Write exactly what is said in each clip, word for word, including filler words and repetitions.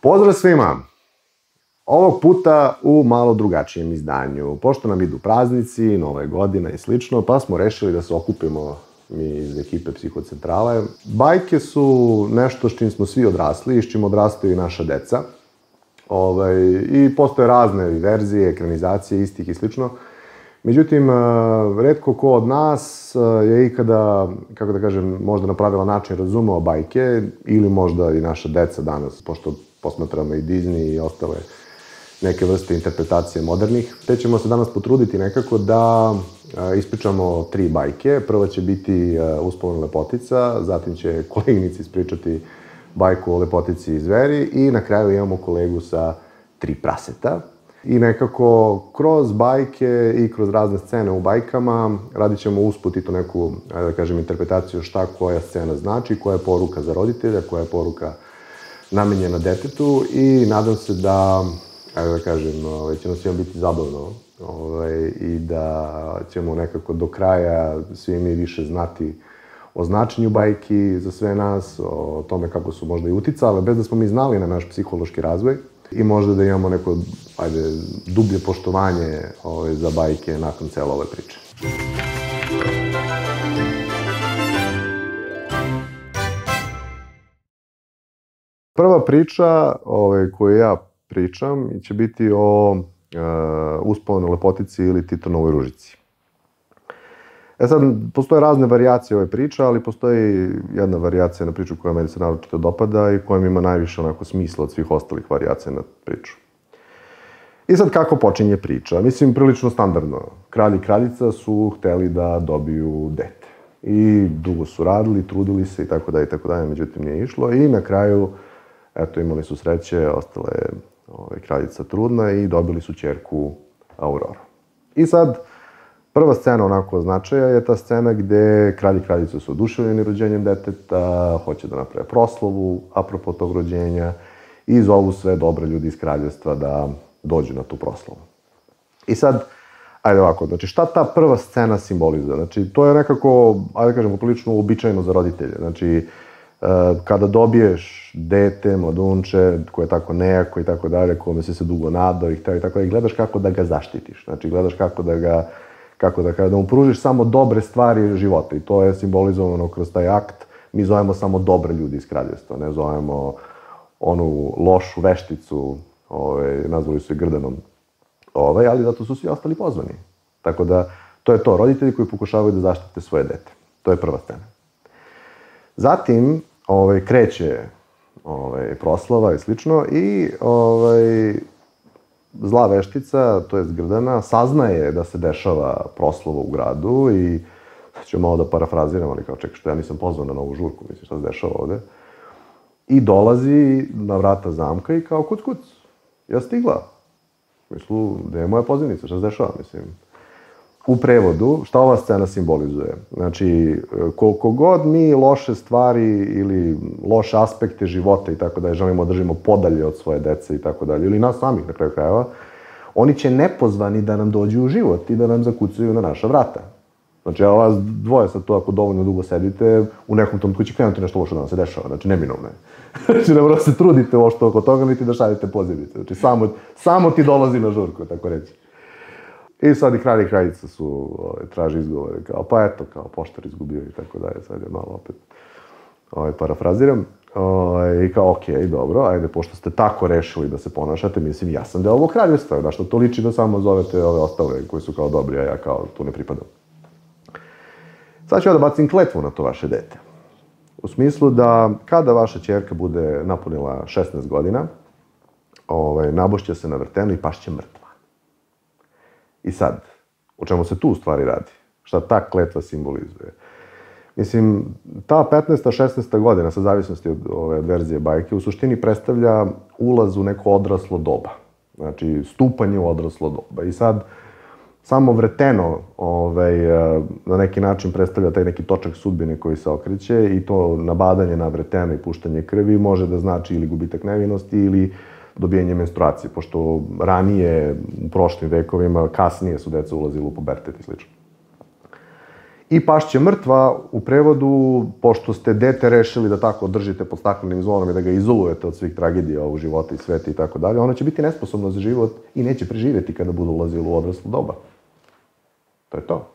Pozdrav svima! Ovog puta u malo drugačijem izdanju. Pošto nam idu praznici, nove godine i slično, pa smo rešili da se okupimo mi iz ekipe Psihocentrale. Bajke su nešto s čim smo svi odrasli i s čim odrastaju i naša deca. Ovaj, I postoje razne verzije, ekranizacije istih i slično. Međutim, retko ko od nas je ikada, kako da kažem, možda na pravilan način razumeo bajke, ili možda i naša deca danas, pošto posmatramo i Disney i ostale neke vrste interpretacije modernih. Te ćemo se danas potruditi nekako da ispričamo tri bajke. Prva će biti Uspavana lepotica, zatim će koleginici ispričati bajku o lepotici i zveri i na kraju imamo kolegu sa tri praseta. I nekako kroz bajke i kroz razne scene u bajkama radit ćemo usput i to neku, da kažem, interpretaciju šta koja scena znači, koja je poruka za roditelja, koja je poruka namenjena detetu i nadam se da, da kažem, će nam svima biti zabavno i da ćemo nekako do kraja svi mi više znati o značenju bajki za sve nas, o tome kako su možda i uticale, bez da smo mi znali na naš psihološki razvoj i možda da imamo neko, ajde, dublje poštovanje za bajke nakon cele ove priče. Prva priča koju ja pričam će biti o Uspavanoj lepotici ili Titonovoj ružici. E sad, postoje razne varijacije ove priče, ali postoji jedna varijacija na priču koja meni se naročito dopada i koja ima najviše onako smisla od svih ostalih varijacija na priču. I sad, kako počinje priča? Mislim, prilično standardno. Kralj i kraljica su hteli da dobiju dete. I dugo su radili, trudili se i tako dalje i tako dalje, međutim nije išlo. I na kraju, eto, imali su sreće, ostala je kraljica trudna i dobili su ćerku Auroru. I sad, prva scena onako značaja je ta scena gde kralj i kraljica su oduševljeni rođenjem deteta, hoće da naprave proslavu apropo tog rođenja i zovu sve dobre ljudi iz kraljevstva da dođu na tu proslavu. I sad, ajde ovako, znači šta ta prva scena simbolizuje? Znači, to je nekako, ajde da kažem, poprilično uobičajeno za roditelje. Znači, kada dobiješ dete, mladunče, koje je tako nejako i tako dalje, kome si se dugo nadao i tako dalje, gledaš kako da ga zaštitiš. Znači, gledaš kako da ga kako da kada mu pružiš samo dobre stvari života i to je simbolizovano kroz taj akt. Mi zovemo samo dobre ljudi iz kraljevstva, ne zovemo onu lošu vešticu, nazvali su je Grdanom, ali zato su svi ostali pozvani. Tako da, to je to, roditelji koji pokušavaju da zaštite svoje dete. To je prva scena. Zatim, kreće proslava i slično i zla veštica, to jest Grdana, saznaje da se dešava proslava u gradu i sad ću malo da parafraziram, ali kao čekaj što ja nisam pozvan na novu žurku, mislim šta se dešava ovde. I dolazi na vrata zamka i kao kuc kuc, ja stigla. Mislu, gde je moja pozivnica, šta se dešava, mislim. U prevodu, šta ova scena simbolizuje? Znači, koliko god mi loše stvari ili loše aspekte života i tako dalje želimo da držimo podalje od svoje dece i tako dalje, ili nas samih na kraju krajeva, oni će nepozvani da nam dođu u život i da nam zakucaju na naša vrata. Znači, evo vas dvoje sad to ako dovoljno dugo sedite, u nekom tom će krenuti nešto loše da nam se dešava, znači neminovno je. Znači, ne mora se trudite ošto oko toga, niti da šaljete pozivnice. Znači, samo ti dolazi na žurku, tako reći. I sad i kralj i kraljica su, traži izgovore, kao, pa eto, kao, poštar izgubio i tako dalje, sad je malo opet parafraziram. I kao, okej, dobro, ajde, pošto ste tako rešili da se ponašate, mislim, ja sam deo ovog kraljevstva, da što to liči da samo zovete ove ostale koji su kao dobri, a ja kao tu ne pripadam. Sad ću ja da bacim kletvu na to vaše dete. U smislu da kada vaša ćerka bude napunila šesnaest godina, nabošće se na vrtenu i pašće mrtva. I sad, o čemu se tu u stvari radi? Šta ta kletva simbolizuje? Mislim, ta petnaesta, šesnaesta godina, sa zavisnosti od ove verzije bajke, u suštini predstavlja ulaz u neko odraslo doba. Znači, stupanje u odraslo doba. I sad, samo vrteno na neki način predstavlja taj neki točak sudbine koji se okreće i to nabadanje na vreteno i puštanje krvi može da znači ili gubitak nevinosti ili dobijanje menstruacije, pošto ranije, u prošlim vekovima, kasnije su deca ulazili u pubertet i slično. I pašće mrtva u prevodu, pošto ste dete rešili da tako držite pod staklenim zvonom i da ga izolujete od svih tragedija ovog života i sveta i tako dalje, ono će biti nesposobno za život i neće preživjeti kada budu ulazili u odraslu doba. To je to.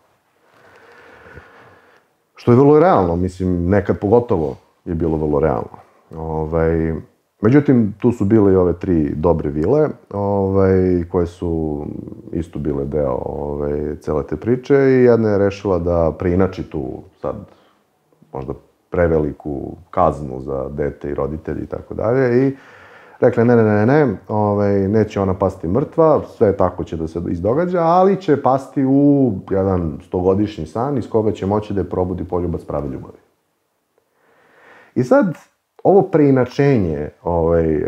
Što je vrlo realno, mislim, nekad pogotovo je bilo vrlo realno. Ovaj, međutim, tu su bile i ove tri dobre vile, ovaj, koje su isto bile deo ovaj, cele te priče i jedna je rešila da preinači tu sad možda preveliku kaznu za dete i roditelji i tako dalje i rekla ne, ne, ne, ne, ovaj, neće ona pasti mrtva, sve tako će da se izdogađa, ali će pasti u jedan stogodišnji san iz koga će moći da je probudi poljubac prave ljubavi. I sad, ovo preinačenje, ovaj,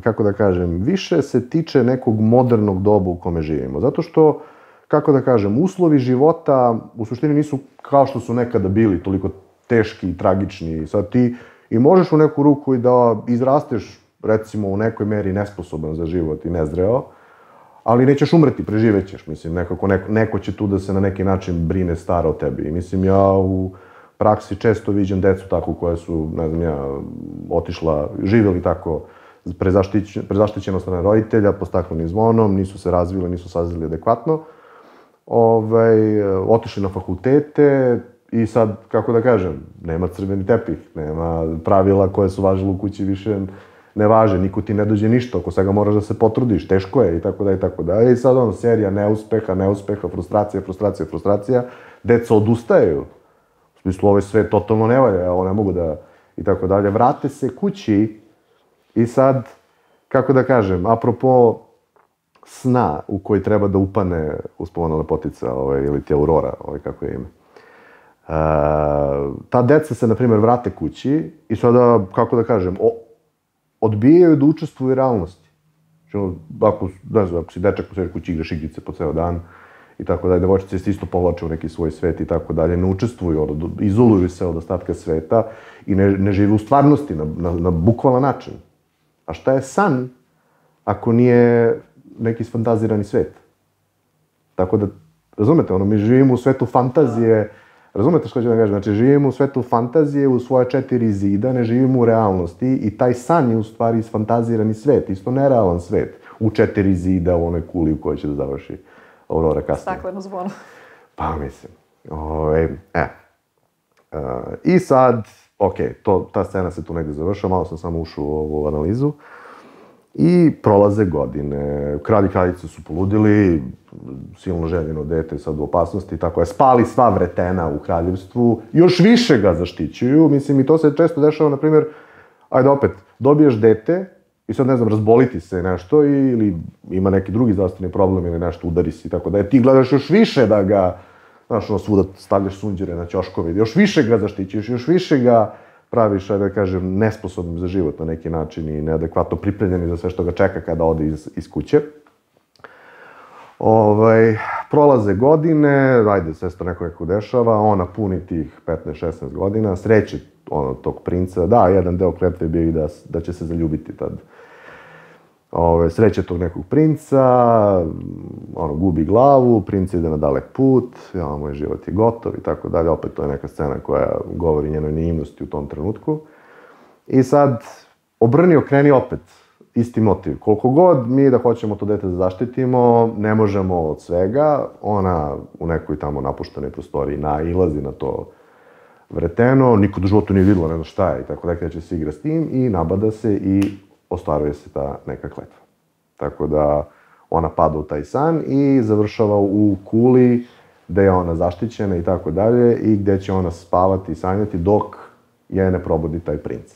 kako da kažem, više se tiče nekog modernog doba u kome živimo. Zato što, kako da kažem, uslovi života u suštini nisu kao što su nekada bili, toliko teški i tragični. Sad ti i možeš u neku ruku i da izrasteš, recimo, u nekoj meri nesposoban za život i nezreo, ali nećeš umreti, preživećeš. Mislim, nekako, neko, neko će tu da se na neki način brine stara o tebi. I mislim, ja u praksi često viđem decu tako koja su, ne znam ja, otišla, živjeli tako prezaštićeno strane roditelja, pod staklenim zvonom, nisu se razvili, nisu sazreli adekvatno, ovaj, otišli na fakultete i sad, kako da kažem, nema crveni tepih, nema pravila koje su važile u kući više ne važe, niko ti ne dođe ništa, oko svega moraš da se potrudiš, teško je i tako da i tako da. I sad ono, serija neuspeha, neuspeha, frustracija, frustracija, frustracija, deca odustaju. U smislu, ovaj sve totalno ne valja, ovo ne mogu da, i tako dalje. Vrate se kući i sad, kako da kažem, apropo sna u koji treba da upane uspomena lepotica, ovaj, ili ti Aurora, ovaj, kako je ime. Uh, ta deca se, na primjer, vrate kući i sada, kako da kažem, o, odbijaju da učestvuju u realnosti. Ako, ne znam, ako si dečak po svojoj kući igraš igrice po ceo dan, i tako dalje, devojčice se isto povlače u neki svoj svet i tako dalje, ne učestvuju, izoluju se od ostatka sveta i ne, ne žive u stvarnosti na, na, na bukvalan način. A šta je san ako nije neki sfantazirani svet? Tako da, razumete, ono, mi živimo u svetu fantazije, razumete što ću da kažem, znači živimo u svetu fantazije, u svoje četiri zida, ne živimo u realnosti i taj san je u stvari isfantazirani svet, isto nerealan svet, u četiri zida, u onoj kuli u kojoj će da završi Aurora kasnije. Stakleno zvono. Pa mislim. Ove, e. Uh, I sad, ok, to, ta scena se tu negde završava, malo sam samo ušao u ovu analizu. I prolaze godine. Kralj i kraljica su poludili, silno željeno dete sad u opasnosti, tako je. Spali sva vretena u kraljevstvu, još više ga zaštićuju. Mislim, i to se često dešava, na primjer, ajde opet, dobiješ dete, i sad, ne znam, razboliti se nešto ili ima neki drugi zdravstveni problem ili nešto, udari se i tako da. Ti gledaš još više da ga, znaš, ono, svuda stavljaš sunđere na ćoškove, još više ga zaštićuješ, još više ga praviš, ajde da kažem, nesposobnim za život na neki način i neadekvatno pripremljeni za sve što ga čeka kada ode iz, iz kuće. Ovaj, prolaze godine, ajde, sve se to neko neko dešava, ona puni tih petnaest šesnaest godina, sreće ono, tog princa, da, jedan deo kletve je bio i da, da će se zaljubiti tad. Ove, sreće tog nekog princa, ono, gubi glavu, princ ide na dalek put, ja, moj život je gotov i tako dalje, opet to je neka scena koja govori njenoj naivnosti u tom trenutku. I sad, obrni, okreni opet, isti motiv. Koliko god mi da hoćemo to dete da zaštitimo, ne možemo od svega, ona u nekoj tamo napuštenoj prostoriji nailazi na to vreteno, niko do životu nije vidjela, ne zna šta je i tako da kreće se igra s tim i nabada se i ostvaruje se ta neka kletva. Tako da ona pada u taj san i završava u kuli gde je ona zaštićena i tako dalje i gde će ona spavati i sanjati dok je ne probudi taj princ.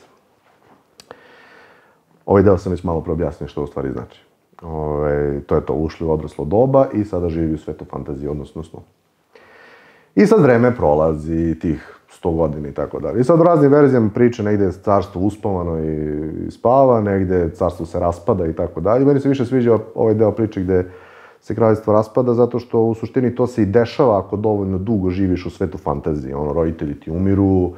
Ovaj deo sam već malo preobjasnio što u stvari znači. Ove, to je to, ušli u odraslo doba i sada živi u svetu fantazije, odnosno snu. I sad vreme prolazi, tih sto godina i tako dalje. I sad u raznim verzijama priče, negde je carstvo uspavano i spava, negde carstvo se raspada i tako dalje. Meni se više sviđa ovaj deo priče gde se kraljevstvo raspada, zato što u suštini to se i dešava ako dovoljno dugo živiš u svetu fantazije. Ono, roditelji ti umiru,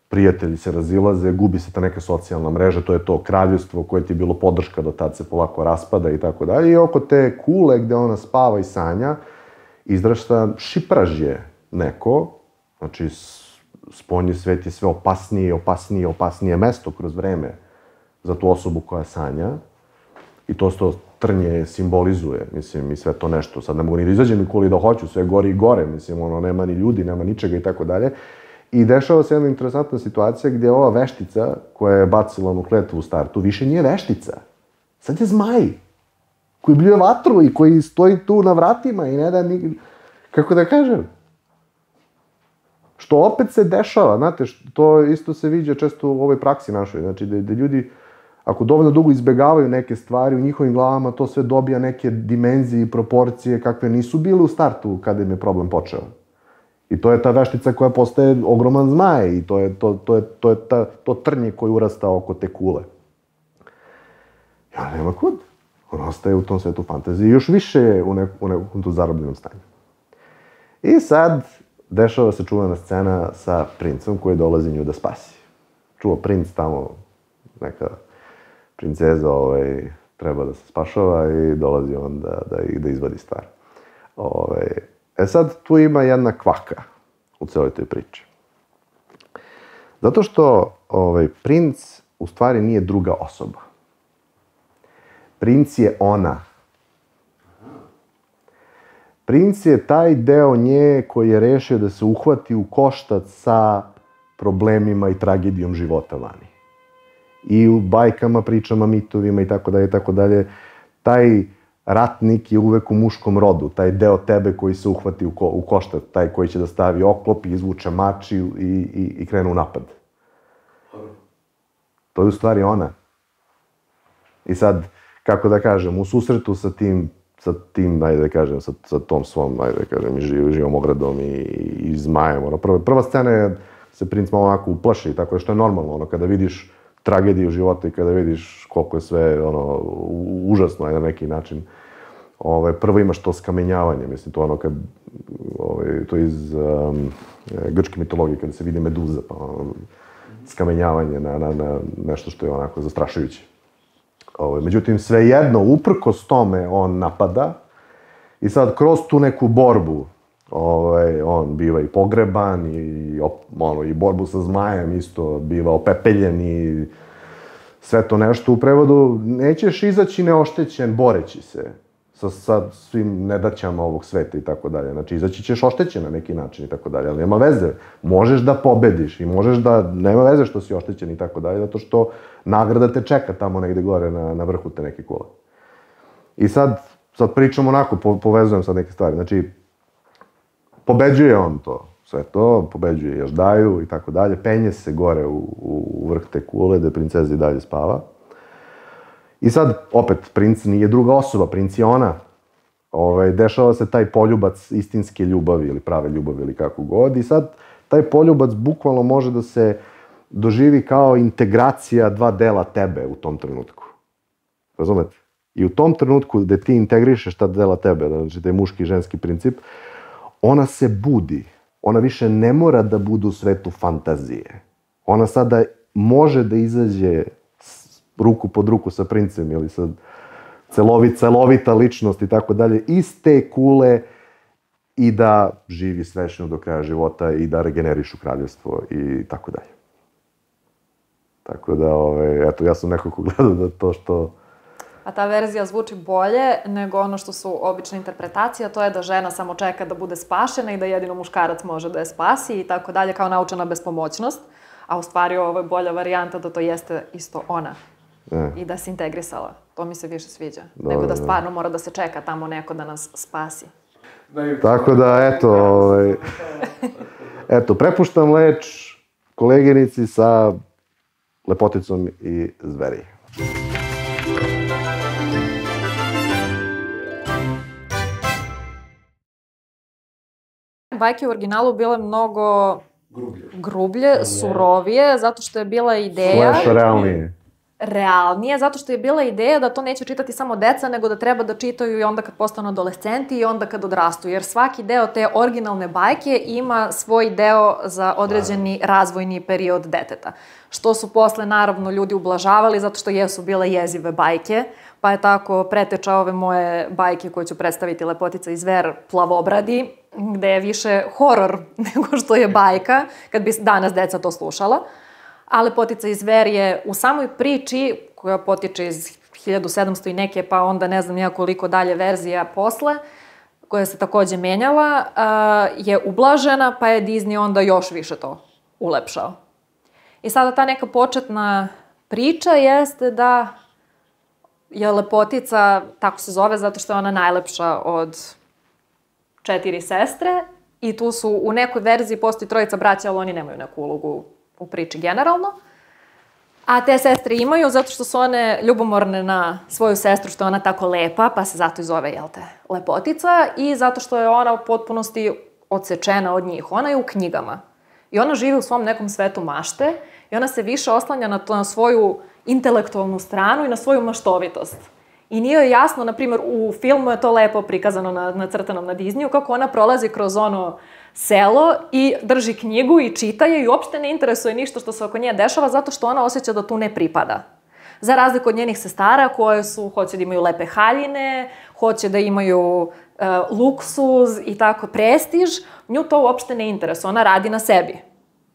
prijatelji se razilaze, gubi se ta neka socijalna mreža, to je to kraljevstvo koje ti je bilo podrška do tad se polako raspada i tako dalje. I oko te kule gde ona spava i sanja, izrašta šipražje neko Znači, spoljni svet je sve opasnije i opasnije i opasnije mesto kroz vreme za tu osobu koja sanja. I to što trnje simbolizuje, mislim, i sve to nešto. Sad ne mogu ni da izađem nikoli da hoću, sve gori i gore, mislim, ono, nema ni ljudi, nema ničega i tako dalje. I dešava se jedna interesantna situacija gdje ova veštica koja je bacila onu kletvu u startu više nije veštica. Sad je zmaj koji bljuje vatru i koji stoji tu na vratima i ne da ni... Kako da kažem? Što opet se dešava, znate, to isto se viđa često u ovoj praksi našoj. Znači, da ljudi, ako dovoljno dugo izbegavaju neke stvari, u njihovim glavama to sve dobija neke dimenzije i proporcije kakve nisu bile u startu kada im je problem počeo. I to je ta veštica koja postaje ogroman zmaj i to je to, to, je, to, je ta, to trnje koje urasta oko te kule. Ja nema kud. On ostaje u tom svetu fantazije još više u, nek, u nekom tu zarobljenom stanju. I sad dešava se čuvena scena sa princom koji dolazi nju da spasi. Čuva princ tamo, neka princeza ovaj, treba da se spašava i dolazi on da, da, da izvadi stvar. Ovaj, e sad, tu ima jedna kvaka u celoj toj priči. Zato što ovaj, princ u stvari nije druga osoba. Princ je ona. Princ je taj deo nje koji je rešio da se uhvati u koštac sa problemima i tragedijom života vani. I u bajkama, pričama, mitovima i tako dalje, i tako dalje, taj ratnik je uvek u muškom rodu, taj deo tebe koji se uhvati u, ko, u koštac, taj koji će da stavi oklop i izvuče mač i, i, i krene u napad. To je u stvari ona. I sad, kako da kažem, u susretu sa tim, sa tim, ajde da kažem, sa, sa tom svom, ajde da kažem, i živ, živom ogradom i, i, i zmajem. Ono, prva, prva scena je, se princ malo onako uplaši i tako je, što je normalno, ono, kada vidiš tragediju života i kada vidiš koliko je sve, ono, užasno je na neki način. Ove, prvo imaš to skamenjavanje, mislim, to ono kad, ove, to iz um, grčke mitologije, kada se vidi meduza, pa ono, skamenjavanje na, na, na nešto što je onako zastrašujuće. Ove, međutim, svejedno, uprkos tome, on napada i sad kroz tu neku borbu, ove, on biva i pogreban i, ono, i borbu sa zmajem isto biva opepeljen i sve to nešto u prevodu. Nećeš izaći neoštećen boreći se sa, sa svim nedaćama ovog sveta i tako dalje. Znači, izaći ćeš oštećen na neki način i tako dalje, ali nema veze. Možeš da pobediš i možeš da, nema veze što si oštećen i tako dalje, zato što nagrada te čeka tamo negde gore na, na vrhu te neke kule. I sad, sad pričam onako, po, povezujem sad neke stvari. Znači, pobeđuje on to, sve to, pobeđuje Jaždaju i tako dalje, penje se gore u, u vrh te kule, gde princeza i dalje spava. I sad, opet, princ nije druga osoba, princ je ona. Ove, dešava se taj poljubac istinske ljubavi ili prave ljubavi ili kako god. I sad, taj poljubac bukvalno može da se doživi kao integracija dva dela tebe u tom trenutku. Razumete? I u tom trenutku gde ti integrišeš ta dela tebe, znači taj muški i ženski princip, ona se budi. Ona više ne mora da bude u svetu fantazije. Ona sada može da izađe ruku pod ruku sa princem ili sa celovit, celovita ličnost i tako dalje, iz te kule i da živi svečno do kraja života i da regenerišu kraljevstvo i tako dalje. Tako da, ove, eto, ja sam nekako gledao da to što... A ta verzija zvuči bolje nego ono što su obične interpretacije, a to je da žena samo čeka da bude spašena i da jedino muškarac može da je spasi i tako dalje, kao naučena bespomoćnost. A u stvari ovo je bolja varijanta da to jeste isto ona. E. I da se integrisala. To mi se više sviđa. Dobre, nego da stvarno mora da se čeka tamo neko da nas spasi. Tako da, eto, ovaj, eto, prepuštam leč koleginici sa Lepoticom i Zveri. Bajke u originalu bile mnogo grublje, grublje, surovije, zato što je bila ideja... Slash realnije. realnije, zato što je bila ideja da to neće čitati samo deca, nego da treba da čitaju i onda kad postanu adolescenti i onda kad odrastu, jer svaki deo te originalne bajke ima svoj deo za određeni razvojni period deteta. Što su posle, naravno, ljudi ublažavali, zato što jesu bile jezive bajke, pa je tako preteča ove moje bajke koje ću predstaviti, Lepotica i zver, Plavobradi, gde je više horor nego što je bajka, kad bi danas deca to slušala. A Lepotica i zver je u samoj priči, koja potiče iz hiljadu sedamsto i neke, pa onda ne znam nijakoliko dalje verzija posle, koja se takođe menjala, je ublažena, pa je Disney onda još više to ulepšao. I sada ta neka početna priča jeste da je Lepotica, tako se zove, zato što je ona najlepša od četiri sestre i tu su u nekoj verziji postoji trojica braća, ali oni nemaju neku ulogu u priči generalno. A te sestre imaju zato što su one ljubomorne na svoju sestru, što je ona tako lepa, pa se zato i zove, jel te, Lepotica, i zato što je ona u potpunosti odsečena od njih. Ona je u knjigama. I ona živi u svom nekom svetu mašte i ona se više oslanja na, to, na svoju intelektualnu stranu i na svoju maštovitost. I nije joj jasno, na primjer, u filmu je to lepo prikazano na, na crtanom na Disneyu, kako ona prolazi kroz ono selo i drži knjigu i čita je i uopšte ne interesuje ništa što se oko nje dešava, zato što ona osjeća da tu ne pripada. Za razliku od njenih sestara koje su, hoće da imaju lepe haljine, hoće da imaju e, luksuz i tako prestiž, nju to uopšte ne interesuje, ona radi na sebi.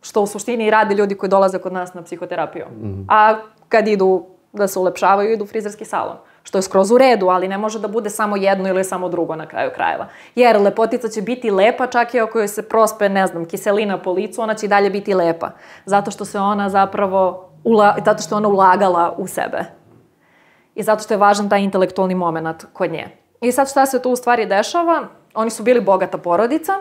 Što u suštini i radi ljudi koji dolaze kod nas na psihoterapiju. Mm-hmm. A kad idu da se ulepšavaju, idu u frizerski salon. Što je skroz u redu, ali ne može da bude samo jedno ili samo drugo na kraju krajeva. Jer Lepotica će biti lepa, čak i ako joj se prospe, ne znam, kiselina po licu, ona će i dalje biti lepa. Zato što se ona zapravo, ula, zato što je ona ulagala u sebe. I zato što je važan taj intelektualni moment kod nje. I sad šta se tu u stvari dešava? Oni su bili bogata porodica,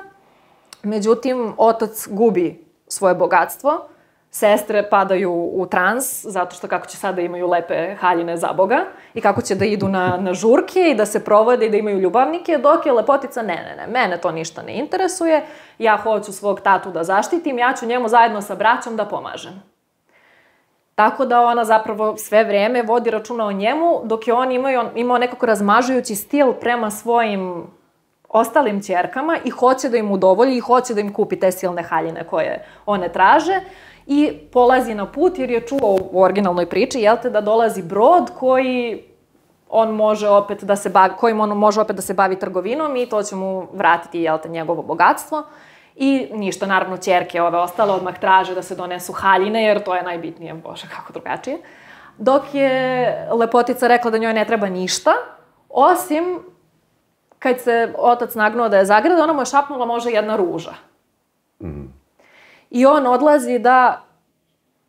međutim, otac gubi svoje bogatstvo, sestre padaju u trans, zato što kako će sada imaju lepe haljine za Boga i kako će da idu na, na žurke i da se provode i da imaju ljubavnike, dok je Lepotica, ne, ne, ne, mene to ništa ne interesuje, ja hoću svog tatu da zaštitim, ja ću njemu zajedno sa braćom da pomažem. Tako da ona zapravo sve vreme vodi računa o njemu, dok je on imao, imao nekako razmažujući stil prema svojim ostalim ćerkama i hoće da im udovolji i hoće da im kupi te silne haljine koje one traže. I polazi na put jer je čuo u originalnoj priči, jel te, da dolazi brod koji on može opet da se bavi, kojim on može opet da se bavi trgovinom i to će mu vratiti, jel te, njegovo bogatstvo. I ništa, naravno, ćerke ove ostale odmah traže da se donesu haljine, jer to je najbitnije, bože, kako drugačije. Dok je Lepotica rekla da njoj ne treba ništa, osim kad se otac nagnuo da je zagrada, ona mu je šapnula može jedna ruža. Mhm. I on odlazi da,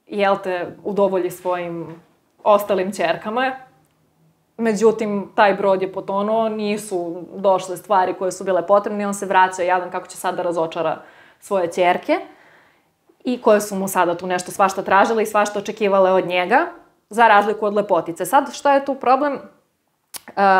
jel te, udovolji svojim ostalim ćerkama. Međutim, taj brod je potonuo, nisu došle stvari koje su bile potrebne i on se vraća jadan kako će sad da razočara svoje ćerke i koje su mu sada tu nešto svašta tražile i svašta očekivale od njega, za razliku od Lepotice. Sad, šta je tu problem?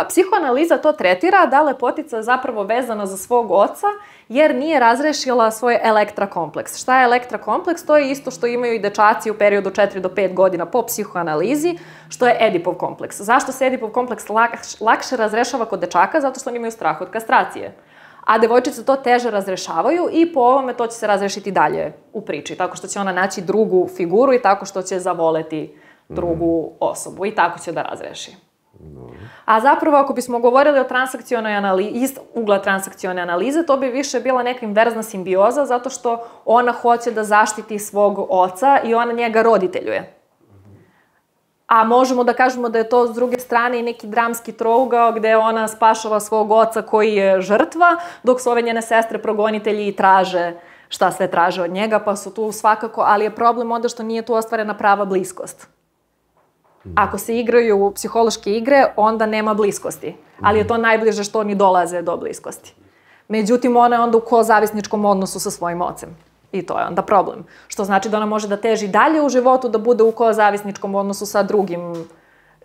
Psihoanaliza to tretira da Lepotica je zapravo vezana za svog oca jer nije razrešila svoj Elektra kompleks. Šta je Elektra kompleks? To je isto što imaju i dečaci u periodu četiri do pet godina po psihoanalizi, što je Edipov kompleks. Zašto se Edipov kompleks lak, lakše razrešava kod dečaka? Zato što oni imaju strah od kastracije. A devojčice to teže razrešavaju i po ovome to će se razrešiti dalje u priči. Tako što će ona naći drugu figuru i tako što će zavoleti drugu osobu i tako će da razreši. A zapravo, ako bismo govorili o transakcionoj analizi, iz ugla transakcione analize, to bi više bila neka inverzna simbioza, zato što ona hoće da zaštiti svog oca i ona njega roditeljuje. A možemo da kažemo da je to s druge strane i neki dramski trougao gde ona spašava svog oca koji je žrtva, dok su ove njene sestre progonitelji i traže šta sve traže od njega, pa su tu svakako, ali je problem onda što nije tu ostvarena prava bliskost. Ako se igraju psihološke igre, onda nema bliskosti. Ali je to najbliže što oni dolaze do bliskosti. Međutim, ona je onda u kozavisničkom odnosu sa svojim ocem. I to je onda problem. Što znači da ona može da teži dalje u životu, da bude u kozavisničkom odnosu sa drugim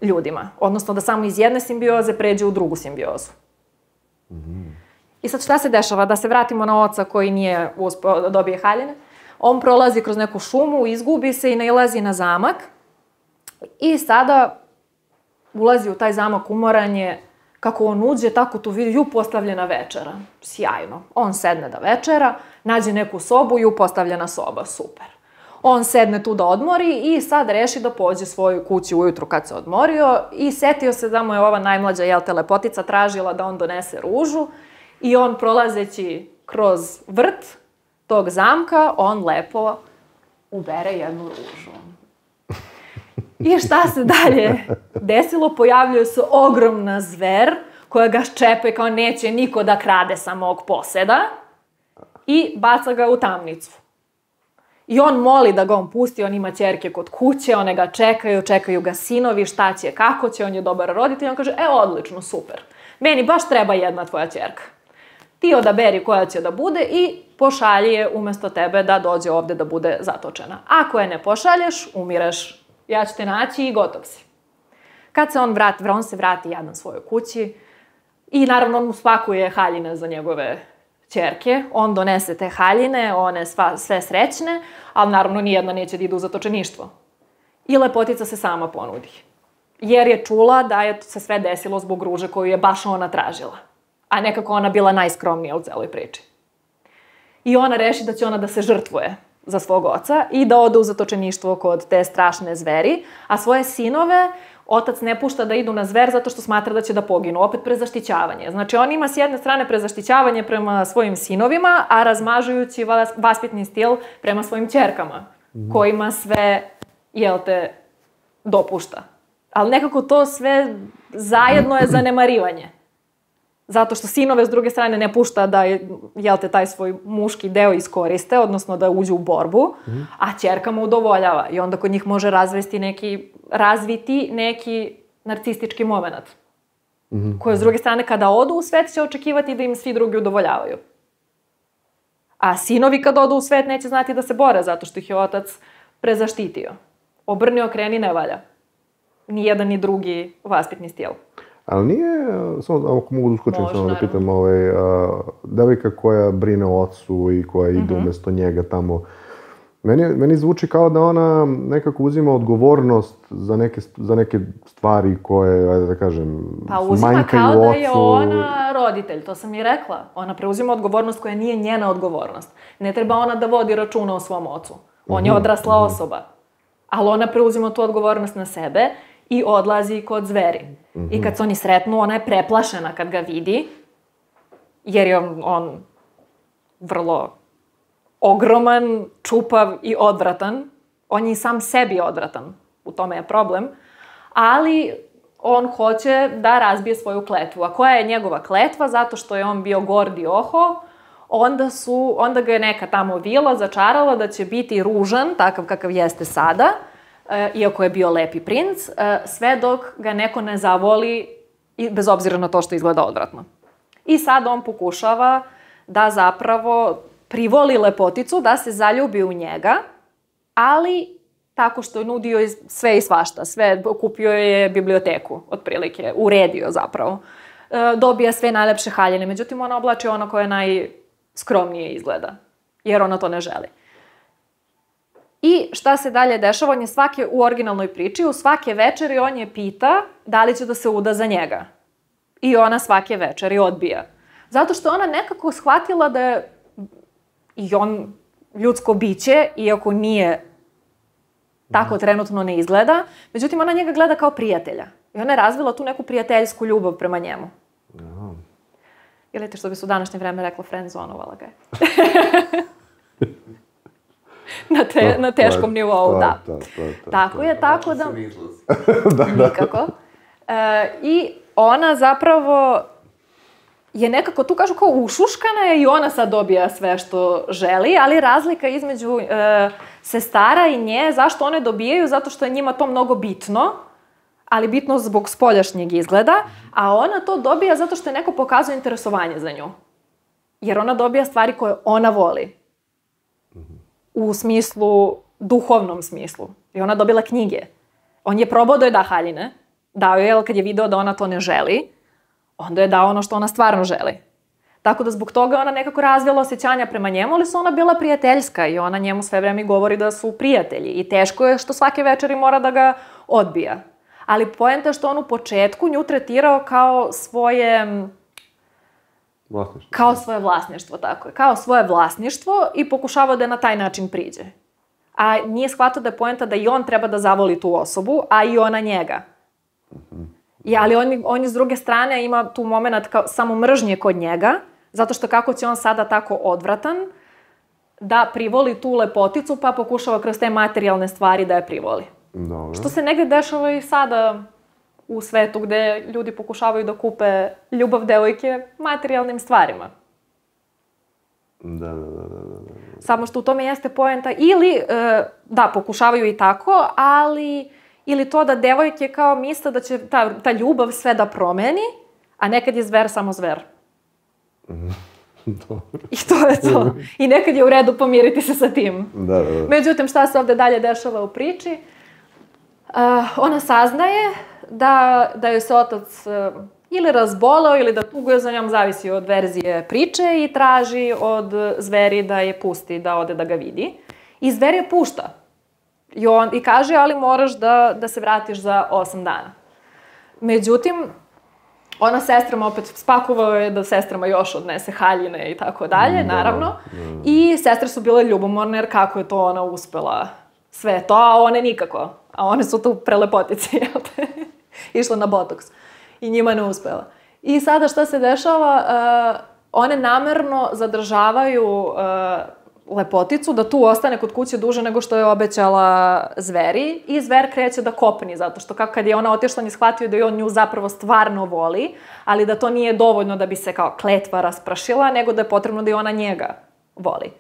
ljudima. Odnosno da samo iz jedne simbioze pređe u drugu simbiozu. I sad šta se dešava? Da se vratimo na oca koji nije uspeo da dobije haljine. On prolazi kroz neku šumu, izgubi se i nailazi na zamak I sada ulazi u taj zamak umoranje, kako on uđe, tako tu vidi, ju postavljena večera. Sjajno. On sedne da večera, nađe neku sobu, ju postavljena soba. Super. On sedne tu da odmori i sad reši da pođe svoju kući ujutru kad se odmorio i setio se da mu je ova najmlađa, jel te, lepotica tražila da on donese ružu i on prolazeći kroz vrt tog zamka, on lepo ubere jednu ružu. I šta se dalje desilo? Pojavljuje se ogromna zver koja ga ščepe kao neće niko da krade sa mog poseda i baca ga u tamnicu. I on moli da ga on pusti, on ima ćerke kod kuće, one ga čekaju, čekaju ga sinovi, šta će, kako će, on je dobar roditelj. On kaže, e, odlično, super. Meni baš treba jedna tvoja ćerka. Ti odaberi koja će da bude i pošalji je umesto tebe da dođe ovde da bude zatočena. Ako je ne pošalješ, umireš. Ja ću te naći i gotov si. Kad se on vrati, on se vrati jadan svojoj kući i naravno on mu spakuje haljine za njegove ćerke, on donese te haljine, one sva, sve srećne, ali naravno nijedna neće da ide u zatočeništvo. I lepotica se sama ponudi. Jer je čula da je se sve desilo zbog ruže koju je baš ona tražila. A nekako ona bila najskromnija u celoj priči. I ona reši da će ona da se žrtvuje za svog oca i da ode u zatočeništvo kod te strašne zveri, a svoje sinove otac ne pušta da idu na zver zato što smatra da će da poginu, opet prezaštićavanje. Znači, on ima s jedne strane prezaštićavanje prema svojim sinovima, a razmažujući vaspitni stil prema svojim ćerkama, kojima sve, jel te, dopušta. Ali nekako to sve zajedno je zanemarivanje. Zato što sinove s druge strane ne pušta da, jel te, taj svoj muški deo iskoriste, odnosno da uđu u borbu, a ćerka mu udovoljava. I onda kod njih može razvesti neki, razviti neki narcistički moment. Mm-hmm. Koje s druge strane kada odu u svet će očekivati da im svi drugi udovoljavaju. A sinovi kad odu u svet neće znati da se bore zato što ih je otac prezaštitio. Obrni, okreni, ne valja. Ni jedan ni drugi vaspitni stil. Ali nije, samo ako mogu da uskočim, samo da pitam, ovaj, a, devojka koja brine o ocu i koja ide mm-hmm. umesto njega tamo, meni, meni zvuči kao da ona nekako uzima odgovornost za neke, za neke stvari koje, ajde da kažem, pa uzima kao da je ona roditelj, to sam i rekla. Ona preuzima odgovornost koja nije njena odgovornost. Ne treba ona da vodi računa o svom ocu. On mm-hmm. je odrasla mm-hmm. osoba. Ali ona preuzima tu odgovornost na sebe i odlazi kod zveri. Mm-hmm. I kad se oni sretnu, ona je preplašena kad ga vidi, jer je on, on vrlo ogroman, čupav i odvratan. On je i sam sebi odvratan, u tome je problem. Ali on hoće da razbije svoju kletvu. A koja je njegova kletva? Zato što je on bio gord i oho, onda, su, onda ga je neka tamo vila začarala da će biti ružan, takav kakav jeste sada, iako je bio lepi princ, sve dok ga neko ne zavoli, bez obzira na to što izgleda odvratno. I sad on pokušava da zapravo privoli lepoticu, da se zaljubi u njega, ali tako što je nudio sve i svašta. Sve, kupio je biblioteku, otprilike, uredio zapravo. Dobija sve najlepše haljine, međutim ona oblači ono koje najskromnije izgleda, jer ona to ne želi. I šta se dalje dešava? On je svake, u originalnoj priči, u svake večeri on je pita da li će da se uda za njega. I ona svake večeri odbija. Zato što ona nekako shvatila da je i on ljudsko biće, iako nije tako trenutno ne izgleda, međutim ona njega gleda kao prijatelja. I ona je razvila tu neku prijateljsku ljubav prema njemu. Aha. Ili te što bi se u današnje vreme rekla, friendzonovala ga je. Na, te, na teškom nivou, da. Tako je, tako da... Nikako. E, I ona zapravo je nekako, tu kažu kao ušuškana je i ona sad dobija sve što želi, ali razlika između e, sestara i nje, zašto one dobijaju? Zato što je njima to mnogo bitno, ali bitno zbog spoljašnjeg izgleda, a ona to dobija zato što je neko pokazuje interesovanje za nju. Jer ona dobija stvari koje ona voli. U smislu, duhovnom smislu. I ona dobila knjige. On je probao da joj da haljine, dao je, ali kad je video da ona to ne želi, onda je dao ono što ona stvarno želi. Tako da zbog toga ona nekako razvila osjećanja prema njemu, ali su ona bila prijateljska i ona njemu sve vreme govori da su prijatelji. I teško je što svake večeri mora da ga odbija. Ali poenta je što on u početku nju tretirao kao svoje... Vlasništvo. Kao svoje vlasništvo, tako je. Kao svoje vlasništvo i pokušavao da je na taj način priđe. A nije shvatao da je poenta da i on treba da zavoli tu osobu, a i ona njega. I, ali on, on s druge strane ima tu moment kao samo mržnje kod njega, zato što kako će on sada tako odvratan, da privoli tu lepoticu, pa pokušava kroz te materijalne stvari da je privoli. Dobro. Što se negde dešava i sada u svetu gde ljudi pokušavaju da kupe ljubav devojke materijalnim stvarima. Da, da, da, da, da. Samo što u tome jeste poenta ili, da, pokušavaju i tako, ali ili to da devojke kao misle da će ta, ta ljubav sve da promeni, a nekad je zver samo zver. Dobro. I to je to. I nekad je u redu pomiriti se sa tim. Da, da, da. Međutim, šta se ovde dalje dešava u priči? Uh, ona saznaje da, da joj se otac uh, ili razboleo ili da tuguje za njom, zavisi od verzije priče, i traži od zveri da je pusti, da ode da ga vidi. I zver je pušta. I, on, i kaže, ali moraš da, da se vratiš za osam dana. Međutim, ona sestrama opet spakovao je da sestrama još odnese haljine i tako dalje, naravno. I sestre su bile ljubomorne, jer kako je to ona uspela sve to, a one nikako. A one su tu prelepotice, jel te? Išla na botoks. I njima ne uspela. I sada šta se dešava? Uh, one namerno zadržavaju uh, lepoticu da tu ostane kod kuće duže nego što je obećala zveri, i zver kreće da kopni, zato što kako kad je ona otišla, on je shvatio da je on nju zapravo stvarno voli, ali da to nije dovoljno da bi se kao kletva rasprašila, nego da je potrebno da i ona njega voli.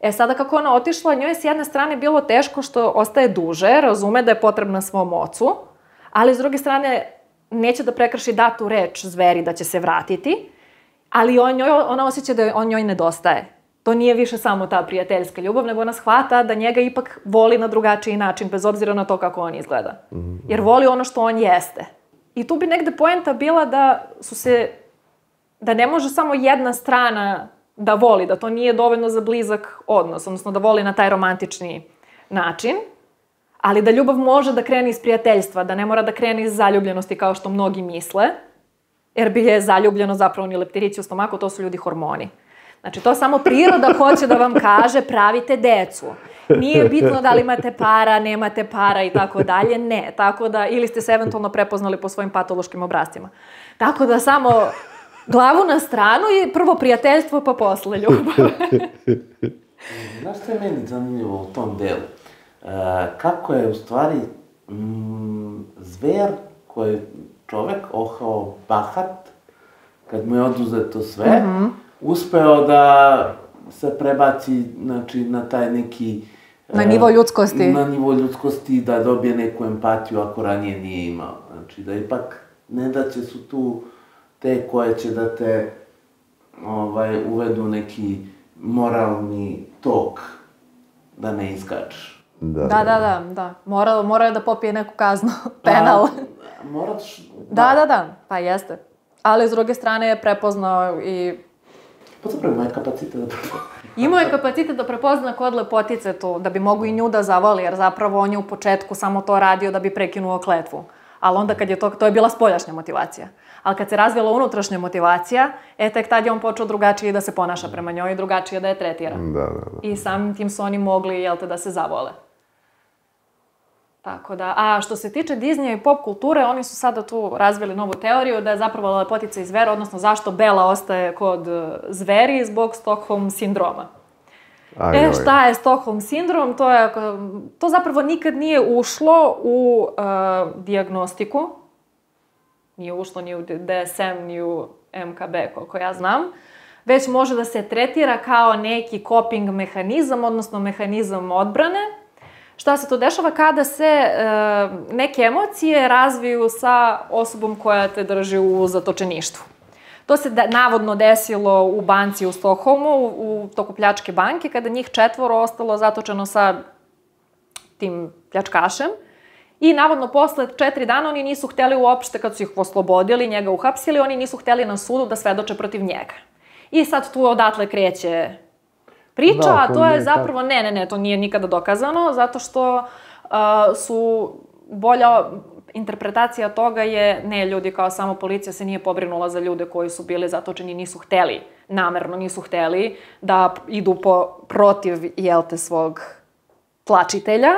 E sada kako ona otišla, njoj je s jedne strane bilo teško što ostaje duže, razume da je potrebna svom ocu, ali s druge strane neće da prekrši datu reč zveri da će se vratiti, ali on njoj, ona osjeća da on njoj nedostaje. To nije više samo ta prijateljska ljubav, nego ona shvata da njega ipak voli na drugačiji način, bez obzira na to kako on izgleda. Jer voli ono što on jeste. I tu bi negde poenta bila da su se, da ne može samo jedna strana da voli, da to nije dovoljno za blizak odnos, odnosno da voli na taj romantični način, ali da ljubav može da krene iz prijateljstva, da ne mora da krene iz zaljubljenosti kao što mnogi misle, jer bi je zaljubljeno zapravo ni leptirići u stomaku, to su ljudi hormoni. Znači, to samo priroda hoće da vam kaže pravite decu. Nije bitno da li imate para, nemate para i tako dalje, ne. Tako da, ili ste se eventualno prepoznali po svojim patološkim obrascima. Tako da samo glavu na stranu i prvo prijateljstvo, pa posle ljubav. Znaš što je meni zanimljivo u tom delu? E, kako je u stvari mm, zver koji je čovek ohao bahat, kad mu je oduzeto sve, mm-hmm. uspeo da se prebaci, znači, na taj neki... Na nivo ljudskosti. Na nivo ljudskosti, da dobije neku empatiju ako ranije nije imao. Znači, da ipak ne da će su tu te koje će da te ovaj, uvedu neki moralni tok da ne iskačeš. Da, da, da, da. da. Morao, morao je da popije neku kaznu, penal. Pa, moraš... Da, da, da, pa jeste. Ali s druge strane je prepoznao i... Pa zapravo ima je kapacitet da prepozna. Imao je kapacitet da prepozna kod lepotice tu, da bi mogu i nju da zavoli, jer zapravo on je u početku samo to radio da bi prekinuo kletvu. Ali onda kad je to, to je bila spoljašnja motivacija. Ali kad se razvila unutrašnja motivacija, e, tek tad je on počeo drugačije da se ponaša prema njoj i drugačije da je tretira. Da, da, da. I samim tim su oni mogli, jel te, da se zavole. Tako da, a što se tiče Disneya i pop kulture, oni su sada tu razvili novu teoriju da je zapravo lepotica i zver, odnosno zašto Bela ostaje kod zveri zbog Stockholm sindroma. Aj, e, šta je Stockholm sindrom? To, je, to zapravo nikad nije ušlo u uh, dijagnostiku. Nije ušlo ni u D S M, ni u M K B, koliko ja znam. Već može da se tretira kao neki coping mehanizam, odnosno mehanizam odbrane. Šta se to dešava kada se e, neke emocije razviju sa osobom koja te drži u zatočeništvu. To se da, navodno desilo u banci u Stokholmu, u, u toku pljačke banke, kada njih četvoro ostalo zatočeno sa tim pljačkašem. I navodno posle četiri dana oni nisu hteli uopšte, kad su ih oslobodili, njega uhapsili, oni nisu hteli na sudu da svedoče protiv njega. I sad tu odatle kreće priča, da, a to je zapravo, ne, ne, ne, to nije nikada dokazano, zato što uh, su bolja interpretacija toga je, ne, ljudi kao samo policija se nije pobrinula za ljude koji su bili zatočeni, nisu hteli, namerno nisu hteli da idu po, protiv, jel te, svog tlačitelja.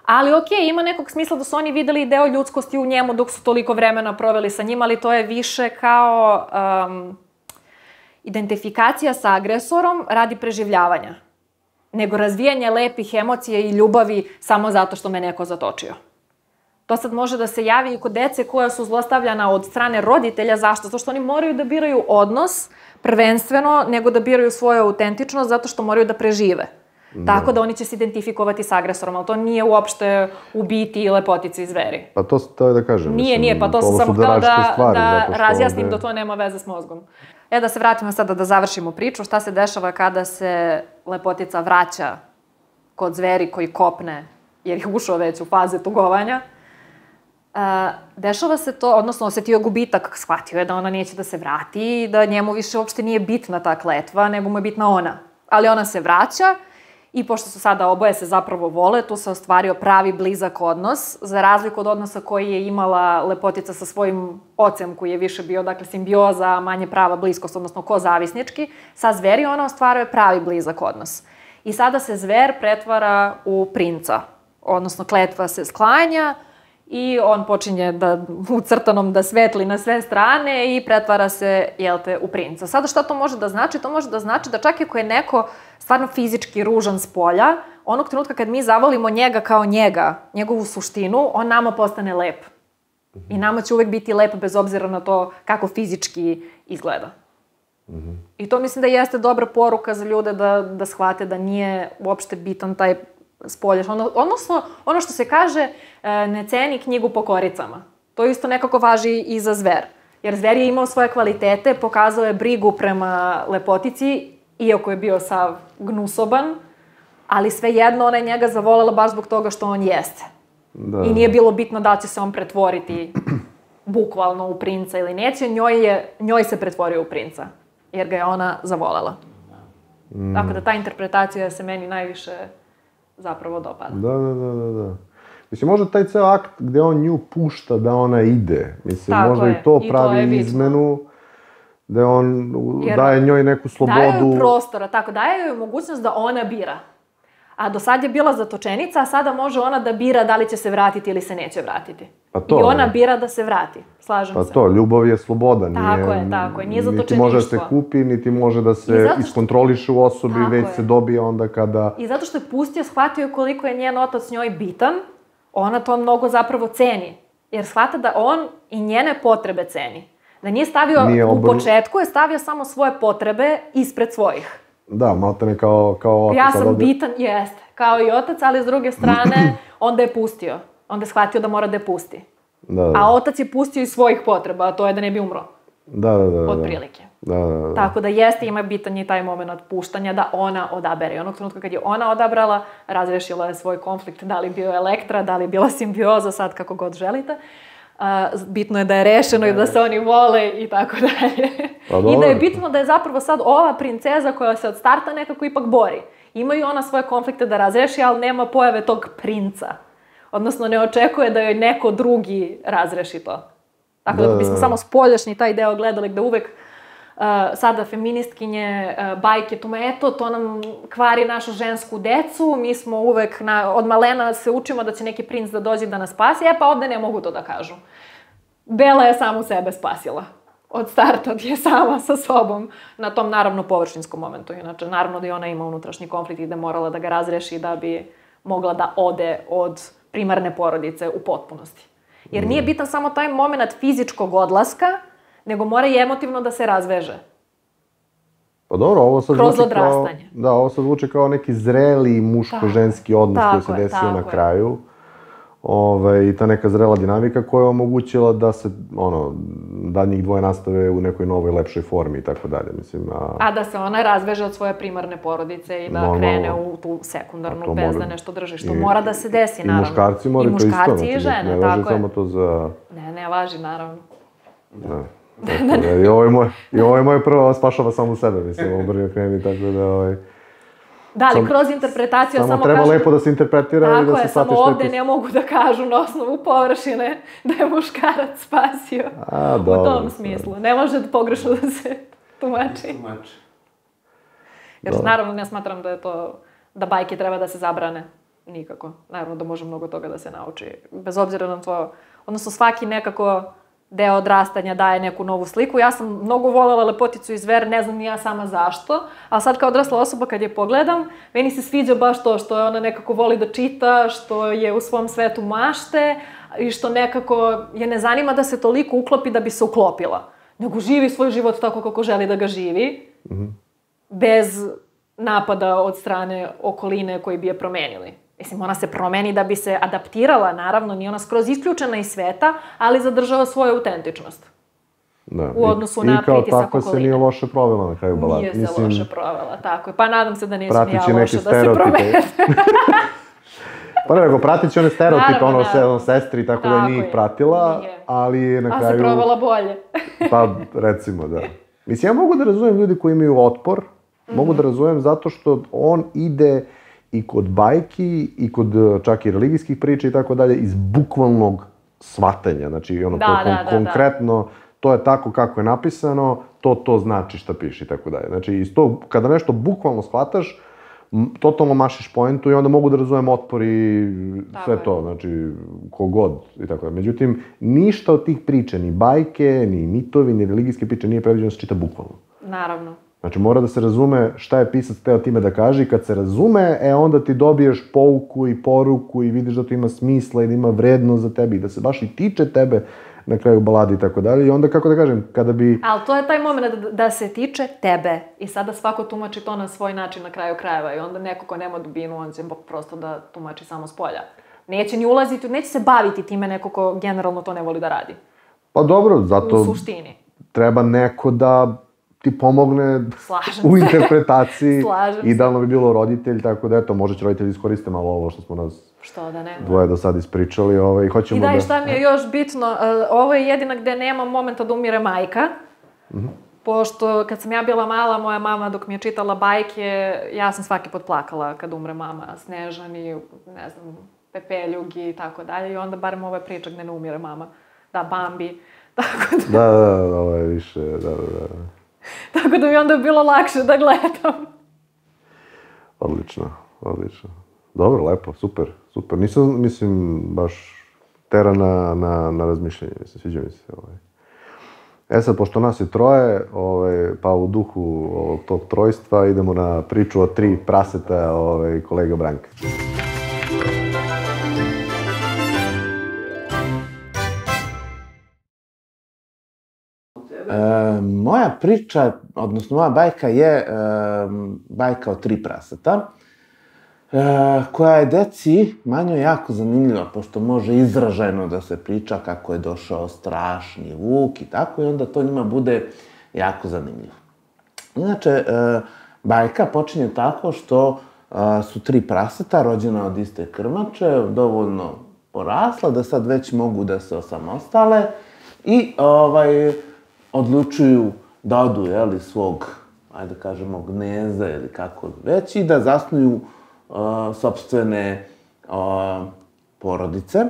Ali okej, ima nekog smisla da su oni videli deo ljudskosti u njemu dok su toliko vremena proveli sa njima, ali to je više kao um, identifikacija sa agresorom radi preživljavanja, nego razvijanje lepih emocija i ljubavi samo zato što me neko zatočio. To sad može da se javi i kod dece koja su zlostavljana od strane roditelja. Zašto? Zato što oni moraju da biraju odnos prvenstveno, nego da biraju svoju autentičnost, zato što moraju da prežive. Da. Tako da oni će se identifikovati s agresorom, ali to nije uopšte u biti i lepotici i zveri. Pa to to je da kažem. Nije, mislim, nije, pa to sam samo su htela da, stvari, da razjasnim ovde... da to nema veze s mozgom. E, da se vratimo sada da završimo priču. Šta se dešava kada se lepotica vraća kod zveri koji kopne, jer je ušao već u faze tugovanja. Uh, dešava se to, odnosno osetio gubitak, shvatio je da ona neće da se vrati i da njemu više uopšte nije bitna ta kletva, nego mu je bitna ona. Ali ona se vraća i pošto su sada oboje se zapravo vole, tu se ostvario pravi blizak odnos, za razliku od odnosa koji je imala lepotica sa svojim ocem, koji je više bio, dakle, simbioza, manje prava bliskost, odnosno kozavisnički, sa zveri ona ostvaruje pravi blizak odnos. I sada se zver pretvara u princa, odnosno kletva se sklanja, i on počinje da, u crtanom da svetli na sve strane i pretvara se, jel te, u princa. Sada šta to može da znači? To može da znači da čak i ako je neko stvarno fizički ružan s polja, onog trenutka kad mi zavolimo njega kao njega, njegovu suštinu, on nama postane lep. I nama će uvek biti lep bez obzira na to kako fizički izgleda. Mm-hmm. I to mislim da jeste dobra poruka za ljude da, da shvate da nije uopšte bitan taj spoljaš. Ono, odnosno, ono što se kaže, ne ceni knjigu po koricama. To isto nekako važi i za zver. Jer zver je imao svoje kvalitete, pokazao je brigu prema lepotici, iako je bio sav gnusoban, ali svejedno ona je njega zavolela baš zbog toga što on jeste. Da. I nije bilo bitno da će se on pretvoriti bukvalno u princa ili neće, njoj, je, njoj se pretvorio u princa, jer ga je ona zavolela. Mm. Tako da ta interpretacija se meni najviše zapravo dopada. Da, da, da, da, da. Mislim, možda taj ceo akt gde on nju pušta da ona ide, mislim, tako možda je. i to I pravi to izmenu, da on jer daje njoj neku slobodu. Daje joj prostora, tako, daje joj mogućnost da ona bira. A do sad je bila zatočenica, a sada može ona da bira da li će se vratiti ili se neće vratiti. Pa to, I ona ne. bira da se vrati, slažem pa se. Pa to, ljubav je sloboda, nije... Tako je, tako je, nije zatočeništvo. Niti može da se kupi, niti može da se što... iskontroliše u osobi, tako već je. Se dobije onda kada... I zato što je pustio, shvatio koliko je njen otac njoj bitan, ona to mnogo zapravo ceni. Jer shvata da on i njene potrebe ceni. Da nije stavio, nije u početku je stavio samo svoje potrebe ispred svojih. Da, maltene kao, kao otac. Ja sam ovdje... bitan, jeste, kao i otac, ali s druge strane, onda je pustio. Onda je shvatio da mora da je pusti. Da, da. A otac je pustio iz svojih potreba, a to je da ne bi umro. Da, da, da. Od prilike. Da, da, da. Tako da jeste, ima bitan i taj moment puštanja da ona odabere. I onog trenutka kad je ona odabrala, razrešila je svoj konflikt, da li bio Elektra, da li bila simbioza, sad kako god želite. Uh, bitno je da je rešeno i da se oni vole i tako dalje. Pa I da je bitno da je zapravo sad ova princeza koja se od starta nekako ipak bori. Imaju ona svoje konflikte da razreši, ali nema pojave tog princa. Odnosno ne očekuje da joj neko drugi razreši to. Tako da, da bismo samo spoljašnji taj deo gledali gde uvek uh, sada feministkinje uh, bajke tome, eto, to nam kvari našu žensku decu, mi smo uvek, na, od malena se učimo da će neki princ da dođe da nas spasi, e pa ovde ne mogu to da kažu. Bela je samu sebe spasila. Od starta je sama sa sobom na tom, naravno, površinskom momentu. Inače, naravno da i ona ima unutrašnji konflikt i da je morala da ga razreši da bi mogla da ode od primarne porodice u potpunosti. Jer nije bitan samo taj moment fizičkog odlaska, nego mora i emotivno da se razveže. Pa dobro, ovo sad kroz zvuči kao... odrastanje. Da, ovo sad zvuči kao neki zreli muško-ženski odnos koji se desio na kraju. Ove, I ta neka zrela dinamika koja je omogućila da se, ono, da njih dvoje nastave u nekoj novoj, lepšoj formi i tako dalje, mislim. A, a da se ona razveže od svoje primarne porodice i da no, krene no, u tu sekundarnu bez da nešto drži, što i, mora da se desi, naravno. I muškarci moraju to isto. I muškarci i žene, ne važi samo to za... Ne, ne važi, naravno. Da. I ovo je moj, i ovo je moj prvo spašava samu sebe, mislim, obrnio kreni, tako da, ovaj... Da, ali kroz interpretaciju, samo treba lepo da se interpretira i da se shvati što je Tako je, samo ovde ne mogu da kažu na osnovu površine da je muškarac spasio. A, u tom smislu. Ne može pogrešno da se tumači. Jer naravno ne smatram da je to, da bajke treba da se zabrane. Nikako. Naravno da može mnogo toga da se nauči. Bez obzira na to, odnosno svaki nekako deo odrastanja daje neku novu sliku. Ja sam mnogo voljela Lepoticu i zver, ne znam ni ja sama zašto, a sad kao odrasla osoba kad je pogledam, meni se sviđa baš to što ona nekako voli da čita, što je u svom svetu mašte i što nekako je ne zanima da se toliko uklopi da bi se uklopila, nego živi svoj život tako kako želi da ga živi, mm-hmm. bez napada od strane okoline koji bi je promenili. Mislim, ona se promeni da bi se adaptirala, naravno, nije ona skroz isključena iz sveta, ali zadržava svoju autentičnost. Da. U odnosu na pritisak okoline. I kao tako se nije loše provela na kraju balade. Nije se Mislim, loše provela, tako je. Pa nadam se da nisam ja loše da se provede. Pa ne, nego pratit će one stereotipe, ono se, ono sestri, tako, tako da nije ih pratila, nije. Ali na kraju... A se provala bolje. Pa, recimo, da. Mislim, ja mogu da razumijem ljudi koji imaju otpor, mm-hmm. mogu da razumijem zato što on ide i kod bajki, i kod čak i religijskih priča i tako dalje, iz bukvalnog shvatanja. Znači, ono, da, to, da, da, konkretno, to je tako kako je napisano, to to znači šta piše i tako dalje. Znači, iz tog, kada nešto bukvalno shvataš, totalno mašiš poentu i onda mogu da razumem otpor i sve to, znači, kogod i tako dalje. Međutim, ništa od tih priča, ni bajke, ni mitovi, ni religijske priče nije predviđeno da se čita bukvalno. Naravno. Znači, mora da se razume šta je pisac teo time da kaže i kad se razume, e, onda ti dobiješ pouku i poruku i vidiš da to ima smisla i da ima vrednost za tebe i da se baš i tiče tebe na kraju balade i tako dalje. I onda, kako da kažem, kada bi... Ali to je taj moment da, da se tiče tebe i sada svako tumači to na svoj način na kraju krajeva i onda neko ko nema dubinu, on će prosto da tumači samo s polja. Neće ni ulaziti, neće se baviti time neko ko generalno to ne voli da radi. Pa dobro, zato... U suštini. Treba neko da ti pomogne Slažem u interpretaciji. Slažem Idealno bi bilo roditelj, tako da eto, možda će roditelji iskoriste malo ovo što smo nas što da ne, dvoje do sad ispričali. Ovaj, hoćemo I da, da... i šta mi je još bitno, ovo je jedina gde nema momenta da umire majka. Mm-hmm. Pošto kad sam ja bila mala, moja mama dok mi je čitala bajke, ja sam svaki put plakala kad umre mama, Snežani, ne znam, Pepeljug i tako dalje. I onda barem ova priča gde ne umire mama. Da, Bambi. Tako da... Da, da, da, ovo je više, da, da, da. Tako da mi onda je bilo lakše da gledam. Odlično, odlično. Dobro, lepo, super, super. Nisam, mislim, baš tera na, na, na razmišljanje, mislim, sviđa mi se. Ovaj. E sad, pošto nas je troje, ovaj, pa u duhu ovog tog trojstva idemo na priču o tri praseta ovaj, kolega Branka. E, moja priča, odnosno moja bajka je e, bajka o tri praseta, e, koja je deci Manjoj jako zanimljiva, pošto može izražajno da se priča kako je došao strašni vuk i tako, i onda to njima bude jako zanimljivo. Inače, e, bajka počinje tako što e, su tri praseta rođena od iste krmače, dovoljno porasla, da sad već mogu da se osamostale i ovaj... odlučuju da odu, jeli, svog, ajde da kažemo, gnezda ili kako već, i da zasnuju uh, sopstvene uh, porodice.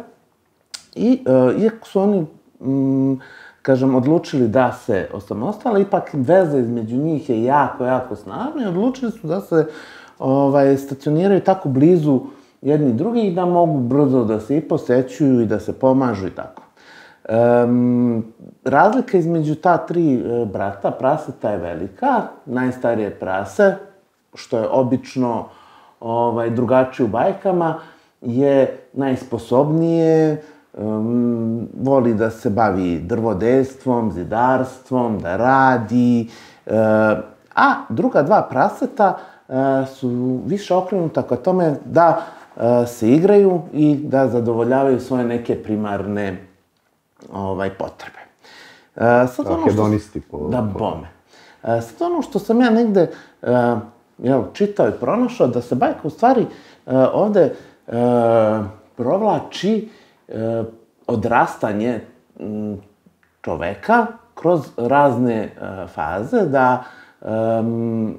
I, uh, iako su oni, um, kažem, odlučili da se osamostale, ipak veza između njih je jako, jako snažna i odlučili su da se ovaj, stacioniraju tako blizu jedni drugih da mogu brzo da se i posećuju i da se pomažu i tako. Um, razlika između ta tri e, brata, praseta je velika. Najstarije prase, što je obično ovaj, drugačije u bajkama, je najsposobnije, um, voli da se bavi drvodejstvom, zidarstvom, da radi. Uh, a druga dva praseta uh, su više okrenuta ka tome da uh, se igraju i da zadovoljavaju svoje neke primarne ovaj, potrebe. E, sad ono što... Hedonisti po... Da, bome. E, sad ono što sam ja negde e, jel, čitao i pronašao, da se bajka u stvari e, ovde e, provlači e, odrastanje m, čoveka kroz razne e, faze, da e,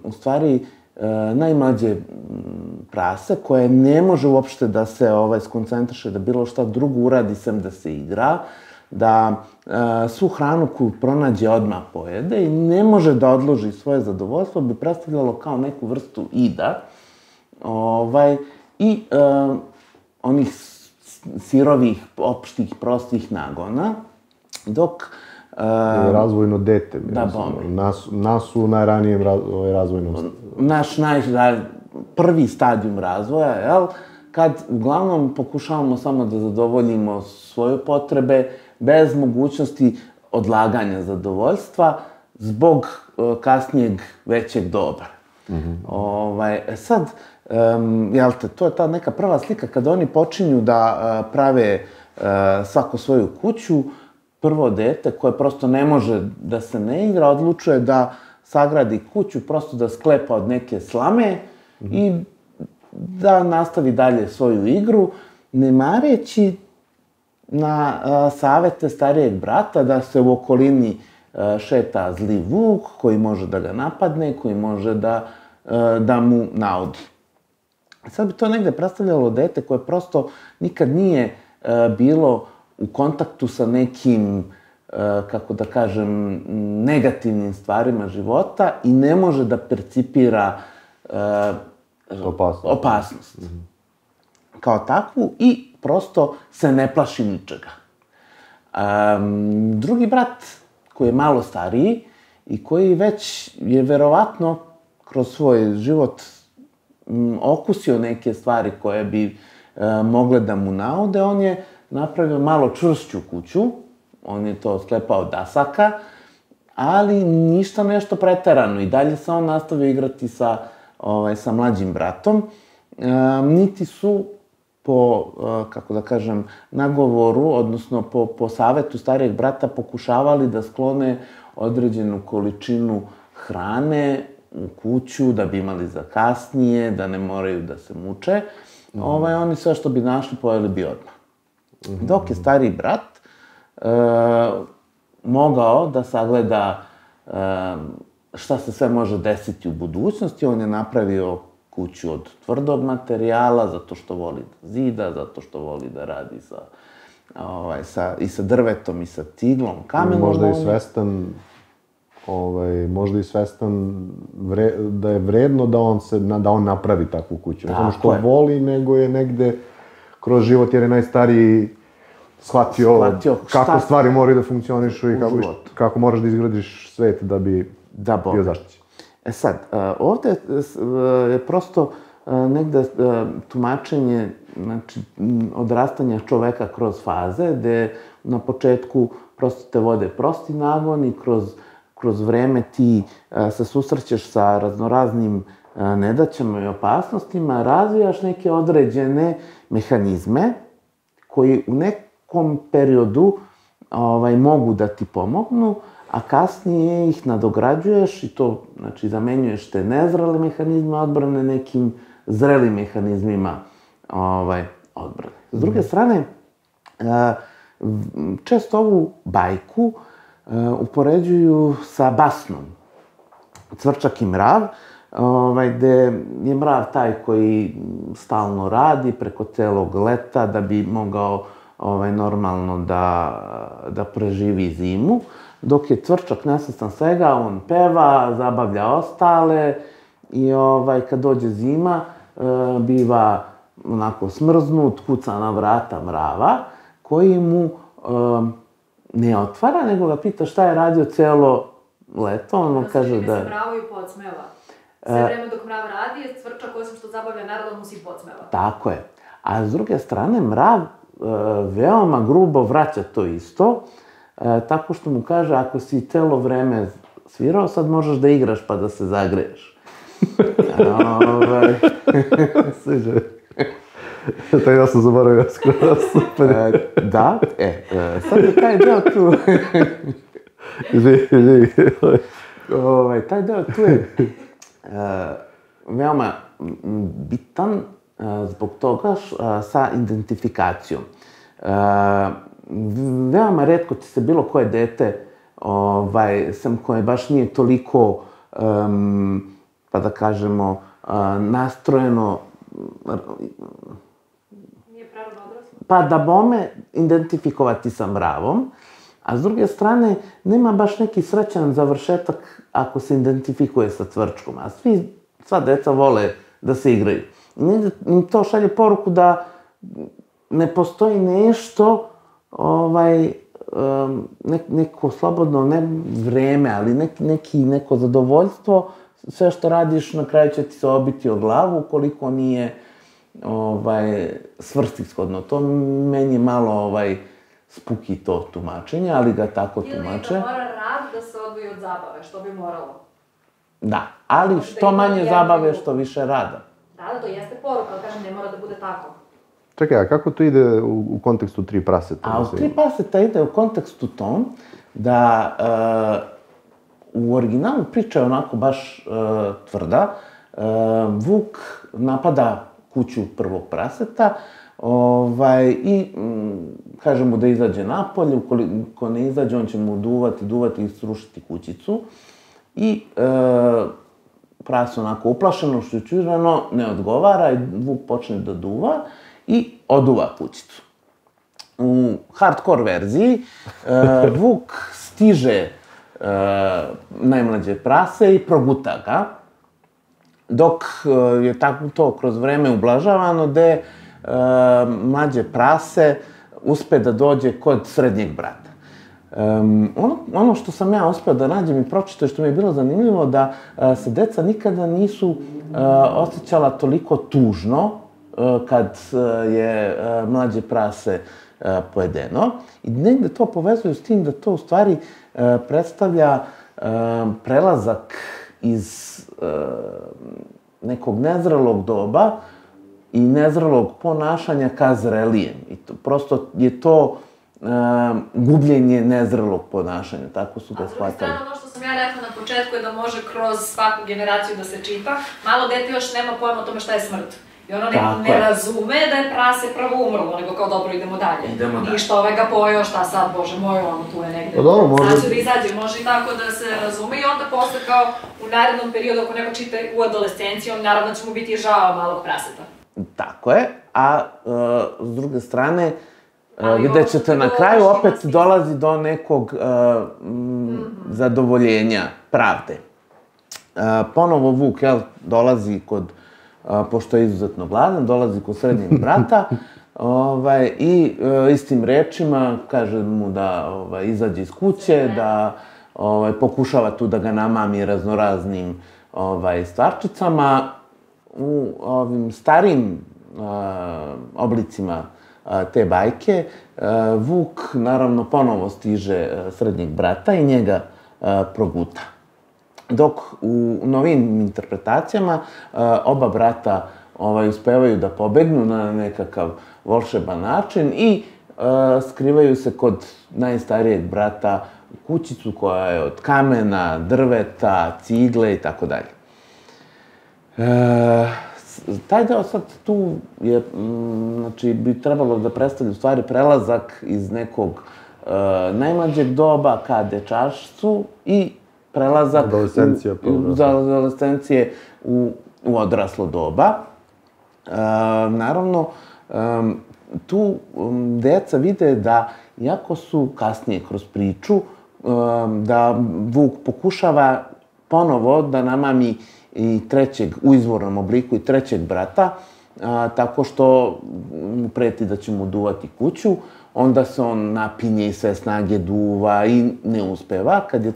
u stvari e, najmlađe prase koje ne može uopšte da se ovaj, skoncentriše, da bilo šta drugo uradi sem da se igra, da e, svu hranu koju pronađe odmah pojede i ne može da odloži svoje zadovoljstvo, bi predstavljalo kao neku vrstu ida. Ovaj, I e, onih sirovih, opštih, prostih nagona, dok... E, razvojno dete. Da, bom. Nas, nas u najranijem raz, razvojnom... Naš naj, prvi stadijum razvoja, jel? Kad uglavnom pokušavamo samo da zadovoljimo svoje potrebe, bez mogućnosti odlaganja zadovoljstva, zbog uh, kasnijeg većeg dobra. Mm-hmm. Ovaj, sad, um, jel te, to je ta neka prva slika kada oni počinju da uh, prave uh, svako svoju kuću, prvo dete koje prosto ne može da se ne igra, odlučuje da sagradi kuću, prosto da sklepa od neke slame mm-hmm. i da nastavi dalje svoju igru, ne mareći na a, savete starijeg brata da se u okolini a, šeta zli vuk koji može da ga napadne, koji može da, a, da mu naudi. Sad bi to negde predstavljalo dete koje prosto nikad nije a, bilo u kontaktu sa nekim, a, kako da kažem, negativnim stvarima života i ne može da percipira a, opasnost. opasnost. Mm-hmm. Kao takvu i prosto se ne plaši ničega. Um, drugi brat, koji je malo stariji i koji već je verovatno kroz svoj život m, okusio neke stvari koje bi e, mogle da mu naude, on je napravio malo čvršću kuću, on je to sklepao od dasaka, ali ništa nešto preterano i dalje se on nastavio igrati sa, ovaj, sa mlađim bratom. E, niti su po, kako da kažem, nagovoru, odnosno po, po savetu starijeg brata pokušavali da sklone određenu količinu hrane u kuću, da bi imali za kasnije, da ne moraju da se muče. Mm-hmm. Ovaj, oni sve što bi našli pojeli bi odmah. Mm-hmm. Dok je stariji brat e, mogao da sagleda e, šta se sve može desiti u budućnosti, on je napravio kuću od tvrdog materijala, zato što voli da zida, zato što voli da radi sa, ovaj, sa, i sa drvetom, i sa tiglom, kamenom. Možda i svestan, ovaj, možda i svestan vre, da je vredno da on, se, da on napravi takvu kuću. Ne samo što je. Voli, nego je negde kroz život, jer je najstariji shvatio, shvatio kako šta stvari moraju da funkcionišu i kako, kako moraš da izgradiš svet da bi da bio zaštićen. E sad, ovde je prosto negde tumačenje, znači, odrastanja čoveka kroz faze, gde na početku prosto te vode prosti nagon i kroz, kroz vreme ti se susrećeš sa raznoraznim nedaćama i opasnostima, razvijaš neke određene mehanizme koji u nekom periodu ovaj, mogu da ti pomognu, a kasnije ih nadograđuješ i to, znači, zamenjuješ te nezrele mehanizme odbrane nekim zrelim mehanizmima ovaj, odbrane. S druge strane, često ovu bajku upoređuju sa basnom. Cvrčak i mrav, ovaj, gde je mrav taj koji stalno radi preko celog leta da bi mogao ovaj, normalno da, da preživi zimu, dok je cvrčak nesvestan svega, on peva, zabavlja ostale i ovaj, kad dođe zima, e, biva onako smrznut, kuca na vrata mrava, koji mu e, ne otvara, nego ga pita šta je radio celo leto, on mu kaže da... Da se mravu i podsmeva. Sve vreme dok mrav radi, je cvrčak, osim što zabavlja narod, mu si podsmeva. Tako je. A s druge strane, mrav e, veoma grubo vraća to isto, E, tako što mu kaže, ako si celo vreme svirao, sad možeš da igraš pa da se zagreješ. Ove... Sviđa. Taj ja sam zaboravio skoro, super. E, da, e, e, sad je taj deo tu... Živi, živi. Ove, taj deo tu je e, veoma bitan e, zbog toga š, a, sa identifikacijom. E, veoma retko će se bilo koje dete, ovaj, sam koje baš nije toliko, um, pa da kažemo, nastrojeno, Nije pravilno odraslo? pa da bome identifikovati sa mravom, a s druge strane nema baš neki srećan završetak ako se identifikuje sa cvrčkom, a svi, sva deca vole da se igraju. I negde to šalje poruku da ne postoji nešto, ovaj, neko slobodno, ne vreme, ali neki, neki, neko zadovoljstvo, sve što radiš na kraju će ti se obiti o glavu ukoliko nije ovaj, svrsishodno. To meni je malo ovaj, spuki to tumačenje, ali ga tako tumače. Ili da mora rad da se odvoji od zabave, što bi moralo. Da, ali što manje zabave, što više rada. Da, da, to jeste poruka, ali kažem, ne mora da bude tako. Čekaj, a kako to ide u, u kontekstu Tri praseta? A u Tri praseta ide u kontekstu tom da uh, u originalu priča je onako baš uh, tvrda. Uh, Vuk napada kuću prvog praseta ovaj, i um, kaže mu da izađe napolje, ukoliko ne izađe on će mu duvati, duvati i srušiti kućicu. I uh, prase onako uplašeno, šućurano, ne odgovara i Vuk počne da duva i oduva kućicu. U hardcore verziji uh, Vuk stiže uh, najmlađe prase i proguta ga, dok uh, je tako to kroz vreme ublažavano, gde uh, mlađe prase uspe da dođe kod srednjeg brata. Um, ono, ono što sam ja uspeo da nađem i pročitao, što mi je bilo zanimljivo, da uh, se deca nikada nisu uh, osjećala toliko tužno uh, kad uh, je uh, mlađe prase uh, pojedeno. I negde to povezuju s tim da to u stvari uh, predstavlja uh, prelazak iz uh, nekog nezrelog doba i nezrelog ponašanja ka zrelijem. I to, prosto je to Uh, gubljenje nezrelog ponašanja, tako su ga shvatali. A s druge strane, ono što sam ja rekla na početku je da može kroz svaku generaciju da se čita. Malo dete još nema pojma o tome šta je smrt. I ono ne, ne razume da je prase prvo umrlo, nego kao dobro, idemo dalje. Idemo dalje. I što ovaj ga pojeo, šta sad, bože moj, ono tu je negde. Pa dobro, može... Sad ću da izađe, može i tako da se razume i onda posle kao u narednom periodu, ako neko čita u adolescenciji, on naravno će mu biti žao malog praseta. Tako je, a uh, s druge strane, gde ćete na kraju opet dolazi do nekog uh, m, zadovoljenja, pravde. Uh, ponovo Vuk, jel, dolazi kod, uh, pošto je izuzetno gladan, dolazi kod srednjeg brata, ovaj, i uh, istim rečima kaže mu da ovaj, izađe iz kuće, da ovaj, pokušava tu da ga namami raznoraznim ovaj, stvarčicama. U ovim starim uh, oblicima te bajke, Vuk naravno ponovo stiže srednjeg brata i njega proguta. Dok u novim interpretacijama oba brata ovaj, uspevaju da pobegnu na nekakav volšeban način i skrivaju se kod najstarijeg brata u kućicu koja je od kamena, drveta, cigle i tako dalje. Taj deo sad tu je, znači, bi trebalo da predstavlja u stvari prelazak iz nekog uh, najmlađeg doba ka dečaštvu i prelazak adolescencija, u, u, adolescencije u, u odraslo doba. Uh, naravno, um, tu um, deca vide da, iako su kasnije kroz priču, um, da Vuk pokušava ponovo da namami i trećeg, u izvornom obliku i trećeg brata, a, tako što mu preti da će mu duvati kuću, onda se on napinje i sve snage duva i ne uspeva. Kad je,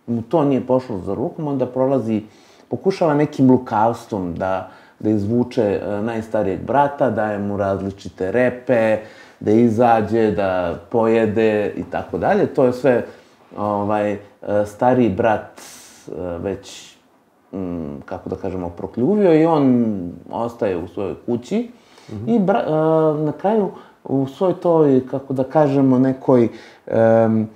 mu to nije pošlo za rukom, onda prolazi, pokušava nekim lukavstvom da, da izvuče a, najstarijeg brata, daje mu različite repe, da izađe, da pojede i tako dalje. To je sve ovaj, stariji brat a, već kako da kažemo, prokljuvio i on ostaje u svojoj kući. Mm-hmm. I bra, uh, na kraju u svoj toj, kako da kažemo, nekoj um,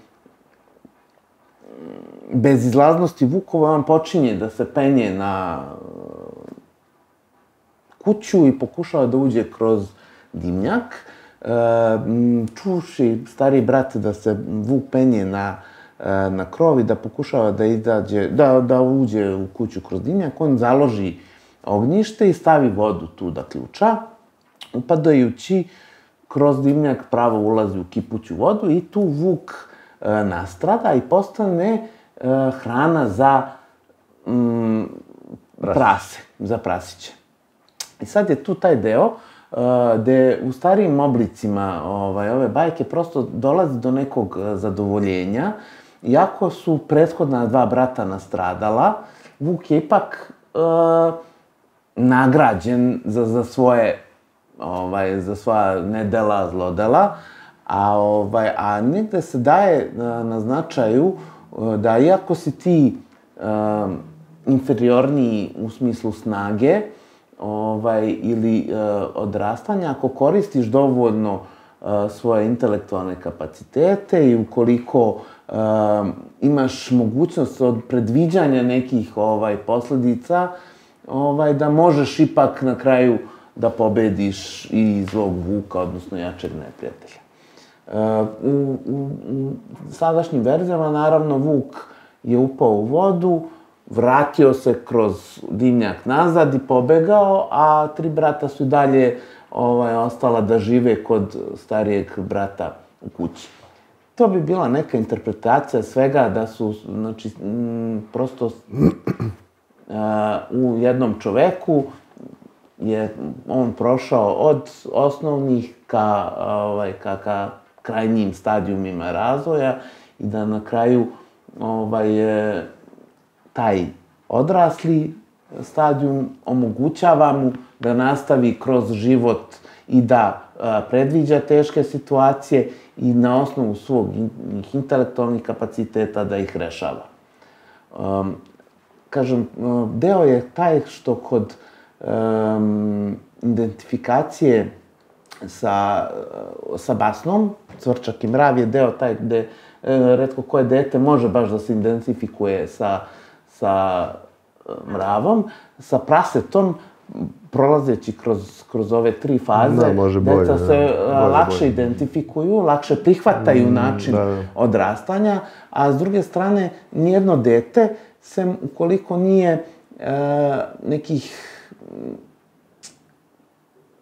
bezizlaznosti Vukova, on počinje da se penje na kuću i pokušava da uđe kroz dimnjak. Uh, čuši stariji brat da se Vuk penje na na krov i da pokušava da izađe, da, da uđe u kuću kroz dimnjak, on založi ognjište i stavi vodu tu da ključa, upadajući kroz dimnjak pravo ulazi u kipuću vodu i tu vuk e, nastrada i postane e, hrana za mm, prase, za prasiće. I sad je tu taj deo uh, gde u starijim oblicima ovaj, ove bajke prosto dolazi do nekog zadovoljenja. Iako su prethodna dva brata nastradala, Vuk je ipak uh, nagrađen za, za svoje ovaj, za svoja nedela, zlodela, a, ovaj, a negde se daje na, na značaju da iako si ti uh, inferiorniji u smislu snage, ovaj, ili uh, odrastanja, ako koristiš dovoljno uh, svoje intelektualne kapacitete i ukoliko uh, imaš mogućnost od predviđanja nekih ovaj, posledica, ovaj, da možeš ipak na kraju da pobediš i zlog vuka, odnosno jačeg neprijatelja. Uh, u, u, u sadašnjim verzijama, naravno, Vuk je upao u vodu, vratio se kroz dimnjak nazad i pobegao, a tri brata su i dalje ovaj, ostala da žive kod starijeg brata u kući. To bi bila neka interpretacija svega da su, znači, m, prosto uh, u jednom čoveku je on prošao od osnovnih ka, ovaj, ka, ka krajnjim stadijumima razvoja i da na kraju ovaj, je taj odrasli stadijum omogućava mu da nastavi kroz život i da a, predviđa teške situacije i na osnovu svog intelektualnih kapaciteta da ih rešava. Um, kažem, deo je taj što kod um, identifikacije sa, sa basnom, Cvrčak i mrav je deo taj gde e, retko koje dete može baš da se identifikuje sa sa mravom, sa prasetom, prolazeći kroz, kroz ove tri faze, da, može bolje, deca se da, lakše bolje. identifikuju, lakše prihvataju način da. odrastanja, a s druge strane, nijedno dete, sem ukoliko nije e, nekih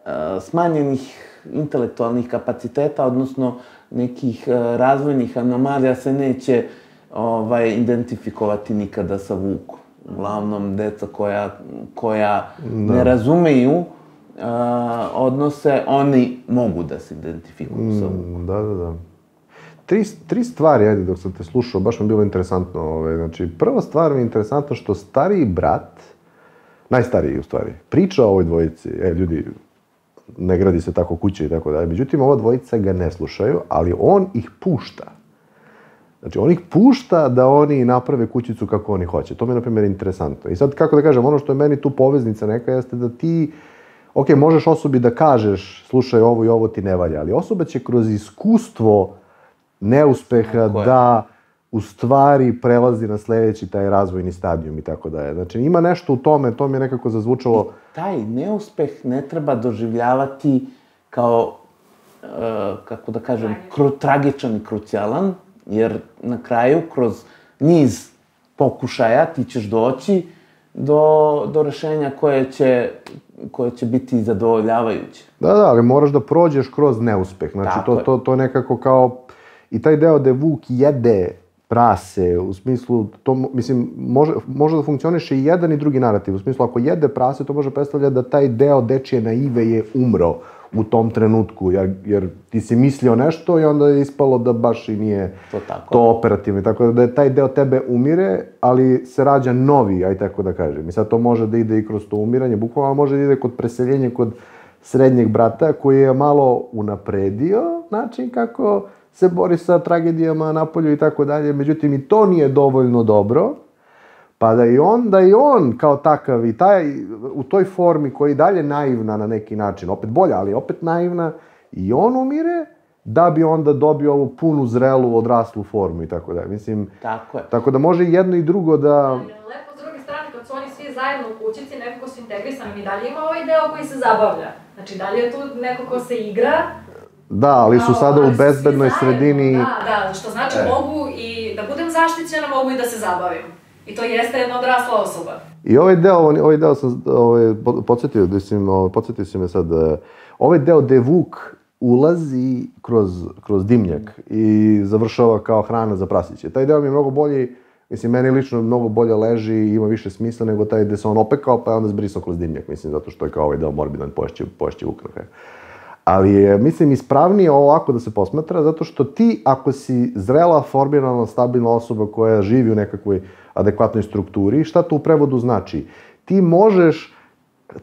e, smanjenih intelektualnih kapaciteta, odnosno nekih e, razvojnih anomalija, se neće ovaj, identifikovati nikada sa Vukom. Uglavnom, deca koja, koja da. ne razumeju uh, odnose, oni mogu da se identifikuju mm, sa Vukom. Da, da, da. Tri, tri stvari, ajde, dok sam te slušao, baš mi bilo interesantno. Ovaj, znači, prva stvar mi je interesantno što stariji brat, najstariji u stvari, priča o ovoj dvojici, e, ljudi, ne gradi se tako kuće i tako dalje. Međutim, ova dvojica ga ne slušaju, ali on ih pušta. Znači, on ih pušta da oni naprave kućicu kako oni hoće. To mi je, na primjer, interesantno. I sad, kako da kažem, ono što je meni tu poveznica neka jeste da ti, ok, možeš osobi da kažeš, slušaj, ovo i ovo ti ne valja, ali osoba će kroz iskustvo neuspeha da u stvari prelazi na sledeći taj razvojni stadijum i tako dalje. Znači, ima nešto u tome, to mi je nekako zazvučalo. I taj neuspeh ne treba doživljavati kao, uh, kako da kažem, kru, tragičan i krucijalan, jer na kraju, kroz niz pokušaja, ti ćeš doći do, do rešenja koje će, koje će biti zadovoljavajuće. Da, da, ali moraš da prođeš kroz neuspeh. Znači, to, to, to nekako kao... I taj deo da Vuk jede prase, u smislu, to, mislim, može, može da funkcioniše i jedan i drugi narativ. U smislu, ako jede prase, to može predstavljati da taj deo dečije naive je umro u tom trenutku, jer, jer ti si mislio nešto i onda je ispalo da baš i nije to, tako. to operativno. Tako da je taj deo tebe umire, ali se rađa novi, aj tako da kažem. I sad to može da ide i kroz to umiranje, bukvalno može da ide kod preseljenja kod srednjeg brata, koji je malo unapredio način kako se bori sa tragedijama napolju i tako dalje. Međutim, i to nije dovoljno dobro, pa da i on, da i on kao takav i taj, u toj formi koja je dalje naivna na neki način, opet bolja, ali opet naivna, i on umire, da bi onda dobio ovu punu, zrelu, odraslu formu i tako dalje. Mislim, tako je. Tako da može jedno i drugo da... Lepo, s druge strane, kad su oni svi zajedno u kućici, nekako su integrisani, i dalje ima ovaj deo koji se zabavlja. Znači, dalje je tu neko ko se igra. Da, ali su sada u bezbednoj sredini... Da, da, što znači e. mogu i da budem zaštićena, mogu i da se zabavim. I to jeste jedna odrasla osoba. I ovaj deo, ovaj deo sam ovaj, podsjetio, mislim, podsjetio si me sad, ovaj deo gde Vuk ulazi kroz, kroz dimnjak i završava kao hrana za prasiće. Taj deo mi je mnogo bolji, mislim, meni lično mnogo bolje leži i ima više smisla nego taj gde se on opekao pa je onda zbrisao kroz dimnjak, mislim, zato što je kao ovaj deo morbidan, poješće, poješće Vuk na kraju. Ali je, mislim, ispravnije ovako da se posmatra, zato što ti, ako si zrela, formirana, stabilna osoba koja živi u nekakvoj adekvatnoj strukturi, šta to u prevodu znači? Ti možeš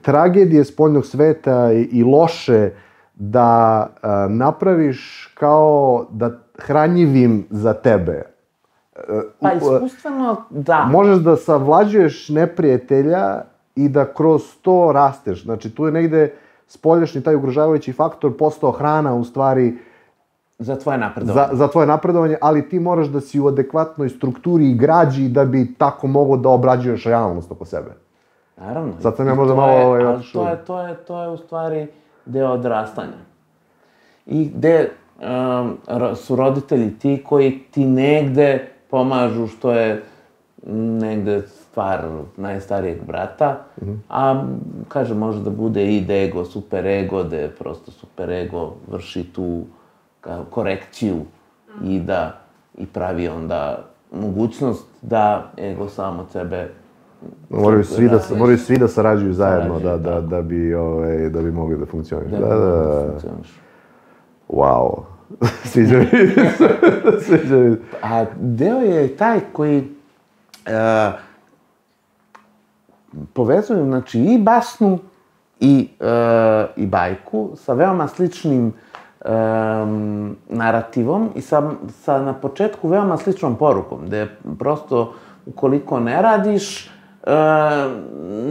tragedije spoljnog sveta i, i loše da a, napraviš kao da hranjivim za tebe. Pa iskustveno, da. Možeš da savlađuješ neprijatelja i da kroz to rasteš. Znači, tu je negde spoljašnji taj ugrožavajući faktor postao hrana, u stvari, za tvoje napredovanje. Za, za tvoje napredovanje, ali ti moraš da si u adekvatnoj strukturi i građi da bi tako mogao da obrađuješ realnost oko sebe. Naravno. Sad sam ja možda malo ovaj otišao. Ali to je, to je, to je u stvari deo odrastanja. I gde um, su roditelji ti koji ti negde pomažu, što je negde stvar najstarijeg brata, mm-hmm. a kaže, može da bude id ego, super ego, gde prosto super ego vrši tu korekciju i da i pravi onda mogućnost da ego sam od sebe moraju svi da moraju svi da sarađuju zajedno da da da bi ovaj da bi mogli da funkcionišu. Da, da, da. Wow. Sviđa mi se. Sviđa mi. A deo je taj koji uh, povezuju, znači, i basnu i, uh, i bajku sa veoma sličnim um, narativom i sa, sa na početku veoma sličnom porukom, gde prosto ukoliko ne radiš, uh,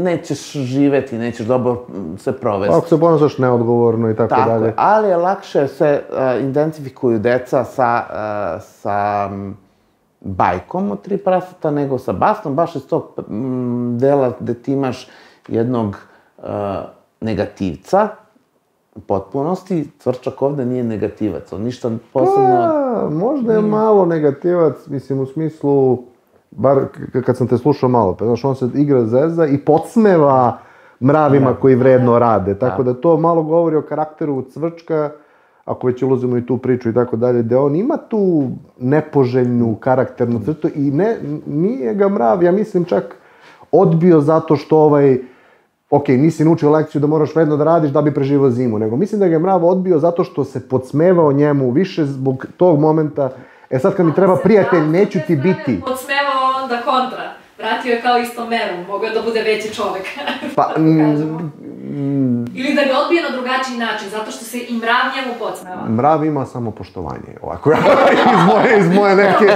nećeš živeti, nećeš dobro se provesti. Ako se ponašaš neodgovorno i tako, tako dalje. Tako, ali je lakše se uh, identifikuju deca sa, uh, sa um, bajkom od tri praseta nego sa basnom, baš iz tog um, dela gde ti imaš jednog uh, negativca, u potpunosti. Cvrčak ovde nije negativac, on ništa posebno... Pa, možda je malo negativac, mislim, u smislu, bar kad sam te slušao malo, pa znaš, on se igra zeza i podsmeva mravima da, koji vredno rade, tako da. da to malo govori o karakteru Cvrčka, ako već ulazimo i tu priču i tako dalje, da on ima tu nepoželjnu karakternu crtu i ne, nije ga mrav, ja mislim, čak odbio zato što ovaj, ok, nisi naučio lekciju da moraš vredno da radiš da bi preživao zimu, nego mislim da ga je mrav odbio zato što se podsmevao njemu više zbog tog momenta. E sad kad mi treba prijatelj, neću ti biti. Podsmevao onda kontra. Vratio je kao istom merom, mogao je da bude veći čovek. Pa, mm, Ili da ga odbije na drugačiji način, zato što se i mrav njemu podsmeva. Mrav ima samo poštovanje, ovako, iz moje, iz moje neke...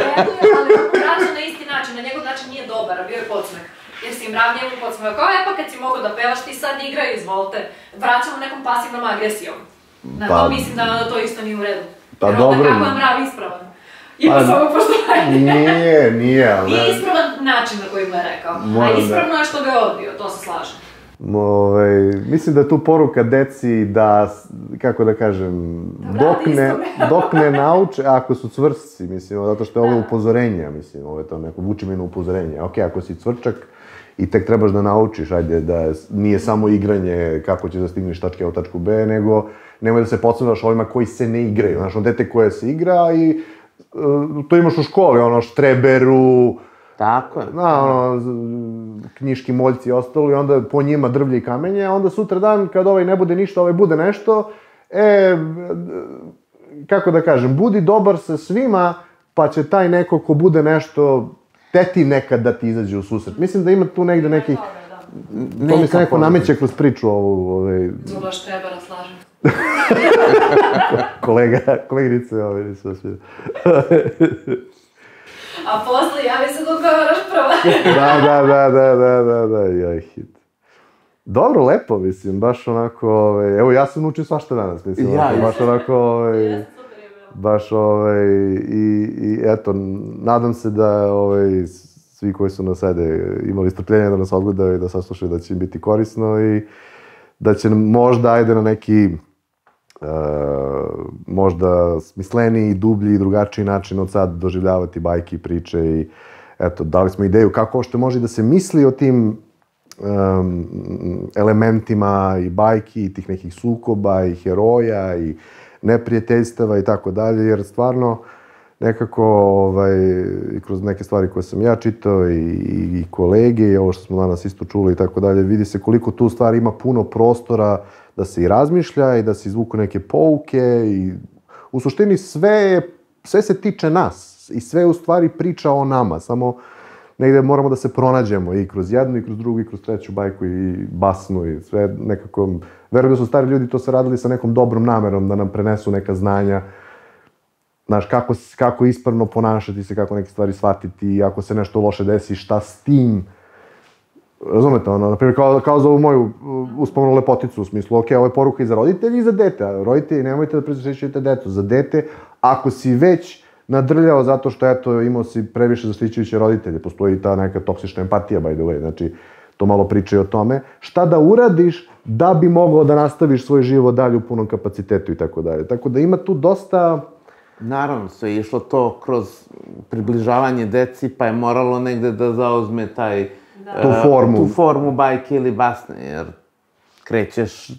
Ali vraća na isti način, na njegov način nije dobar, a bio je podsmeh. Jer si mrav njemu podsmeva, kao e pa kad si mogao da pevaš, ti sad igraju, izvolite. Vraćamo nekom pasivnom agresijom. Na to mislim da to isto nije u redu. Pa dobro. Kako je mrav ispravan? Ima samo poštovanje. Nije, nije, ali... Nije ispravan način na koji mu je rekao, a ispravno je što ga je odbio, to se slažem. Ove, mislim da je tu poruka deci da, kako da kažem, dok ne, dok ne nauče, ako su cvršci, mislim, zato što je ovo upozorenje, mislim, ovo je to neko vučimeno upozorenje. Ok, ako si cvrčak i tek trebaš da naučiš, ajde, da nije samo igranje kako ćeš da stigneš tačke A u tačku B, nego nemoj da se podsmevraš ovima koji se ne igraju. Znaš, on dete koje se igra i to imaš u školi, ono, štreberu, tako je. Na, ono, knjiški moljci i ostalo, i onda po njima drvlje i kamenje, a onda sutra dan, kad ovaj ne bude ništa, ovaj bude nešto, e, kako da kažem, budi dobar sa svima, pa će taj neko ko bude nešto, teti nekad da ti izađe u susret. Mislim da ima tu negde neki... To mi se neko nameće kroz priču ovu... Ovaj... Zuba štrebera, slažem. Kolega, koleginice, ovaj, nisu vas vidio. A posle javi se da odgovaraš prva. Da, da, da, da, da, da, da, joj hit. Dobro, lepo, mislim, baš onako, ovaj, evo ja sam naučio svašta danas, mislim, ja, onako, baš onako, ovaj, baš, ovaj, i, i eto, nadam se da, ovaj, svi koji su nas ajde imali strpljenja da nas odgledaju i da saslušaju da će im biti korisno i da će možda, ajde, na neki Uh, možda smisleniji, dublji i drugačiji način od sad doživljavati bajke i priče i eto, dali smo ideju kako što može da se misli o tim um, elementima i bajki, i tih nekih sukoba, i heroja, i neprijateljstava i tako dalje, jer stvarno nekako, ovaj, i kroz neke stvari koje sam ja čitao i, i kolege i ovo što smo danas isto čuli i tako dalje, vidi se koliko tu stvari ima puno prostora da se i razmišlja i da se izvuku neke pouke i u suštini sve, sve se tiče nas i sve u stvari priča o nama, samo negde moramo da se pronađemo i kroz jednu i kroz drugu i kroz treću bajku i basnu i sve nekako, verujem da su stari ljudi to se radili sa nekom dobrom namerom da nam prenesu neka znanja. Znaš, kako, kako ispravno ponašati se, kako neke stvari shvatiti, ako se nešto loše desi, šta s tim. Razumete, ono, na primjer, kao, kao za ovu moju uspomenu lepoticu, u smislu, ok, ovo je poruka i za roditelji i za dete, a roditelji nemojte da prezaštićujete decu. Za dete, ako si već nadrljao zato što, eto, imao si previše zaštićujuće roditelje, postoji ta neka toksična empatija, by the way, znači, to malo pričaju o tome, šta da uradiš da bi mogao da nastaviš svoj život dalje u punom kapacitetu i tako dalje. Tako da ima tu dosta... Naravno, sve je išlo to kroz približavanje deci, pa je moralo negde da zauzme taj, tu formu. tu formu bajke ili basne, jer krećeš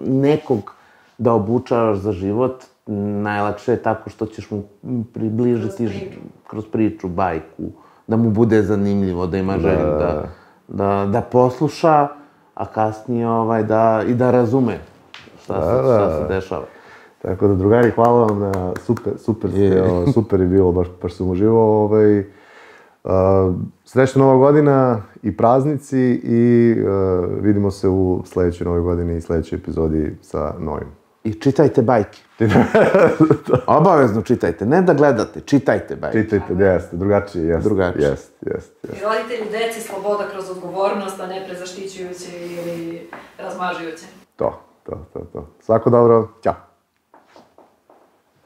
nekog da obučavaš za život, najlakše je tako što ćeš mu približiti kroz priču, kroz priču bajku, da mu bude zanimljivo, da ima želju da, da, da posluša, a kasnije ovaj, da, i da razume šta, da, se, šta se dešava. Tako da, drugari, hvala vam na super, super, ste, o, super je bilo, baš, baš sam uživao. Ovaj, uh, srećna Nova godina i praznici i uh, vidimo se u sledećoj Novoj godini i sledećoj epizodi sa novim. I čitajte bajke. Obavezno čitajte, ne da gledate, čitajte bajke. Čitajte, jeste, drugačije, jeste. Drugačije. Jeste, jeste. I roditelji, deci, sloboda kroz odgovornost, a ne prezaštićujuće ili razmažujuće. To, to, to, to. Svako dobro, ćao.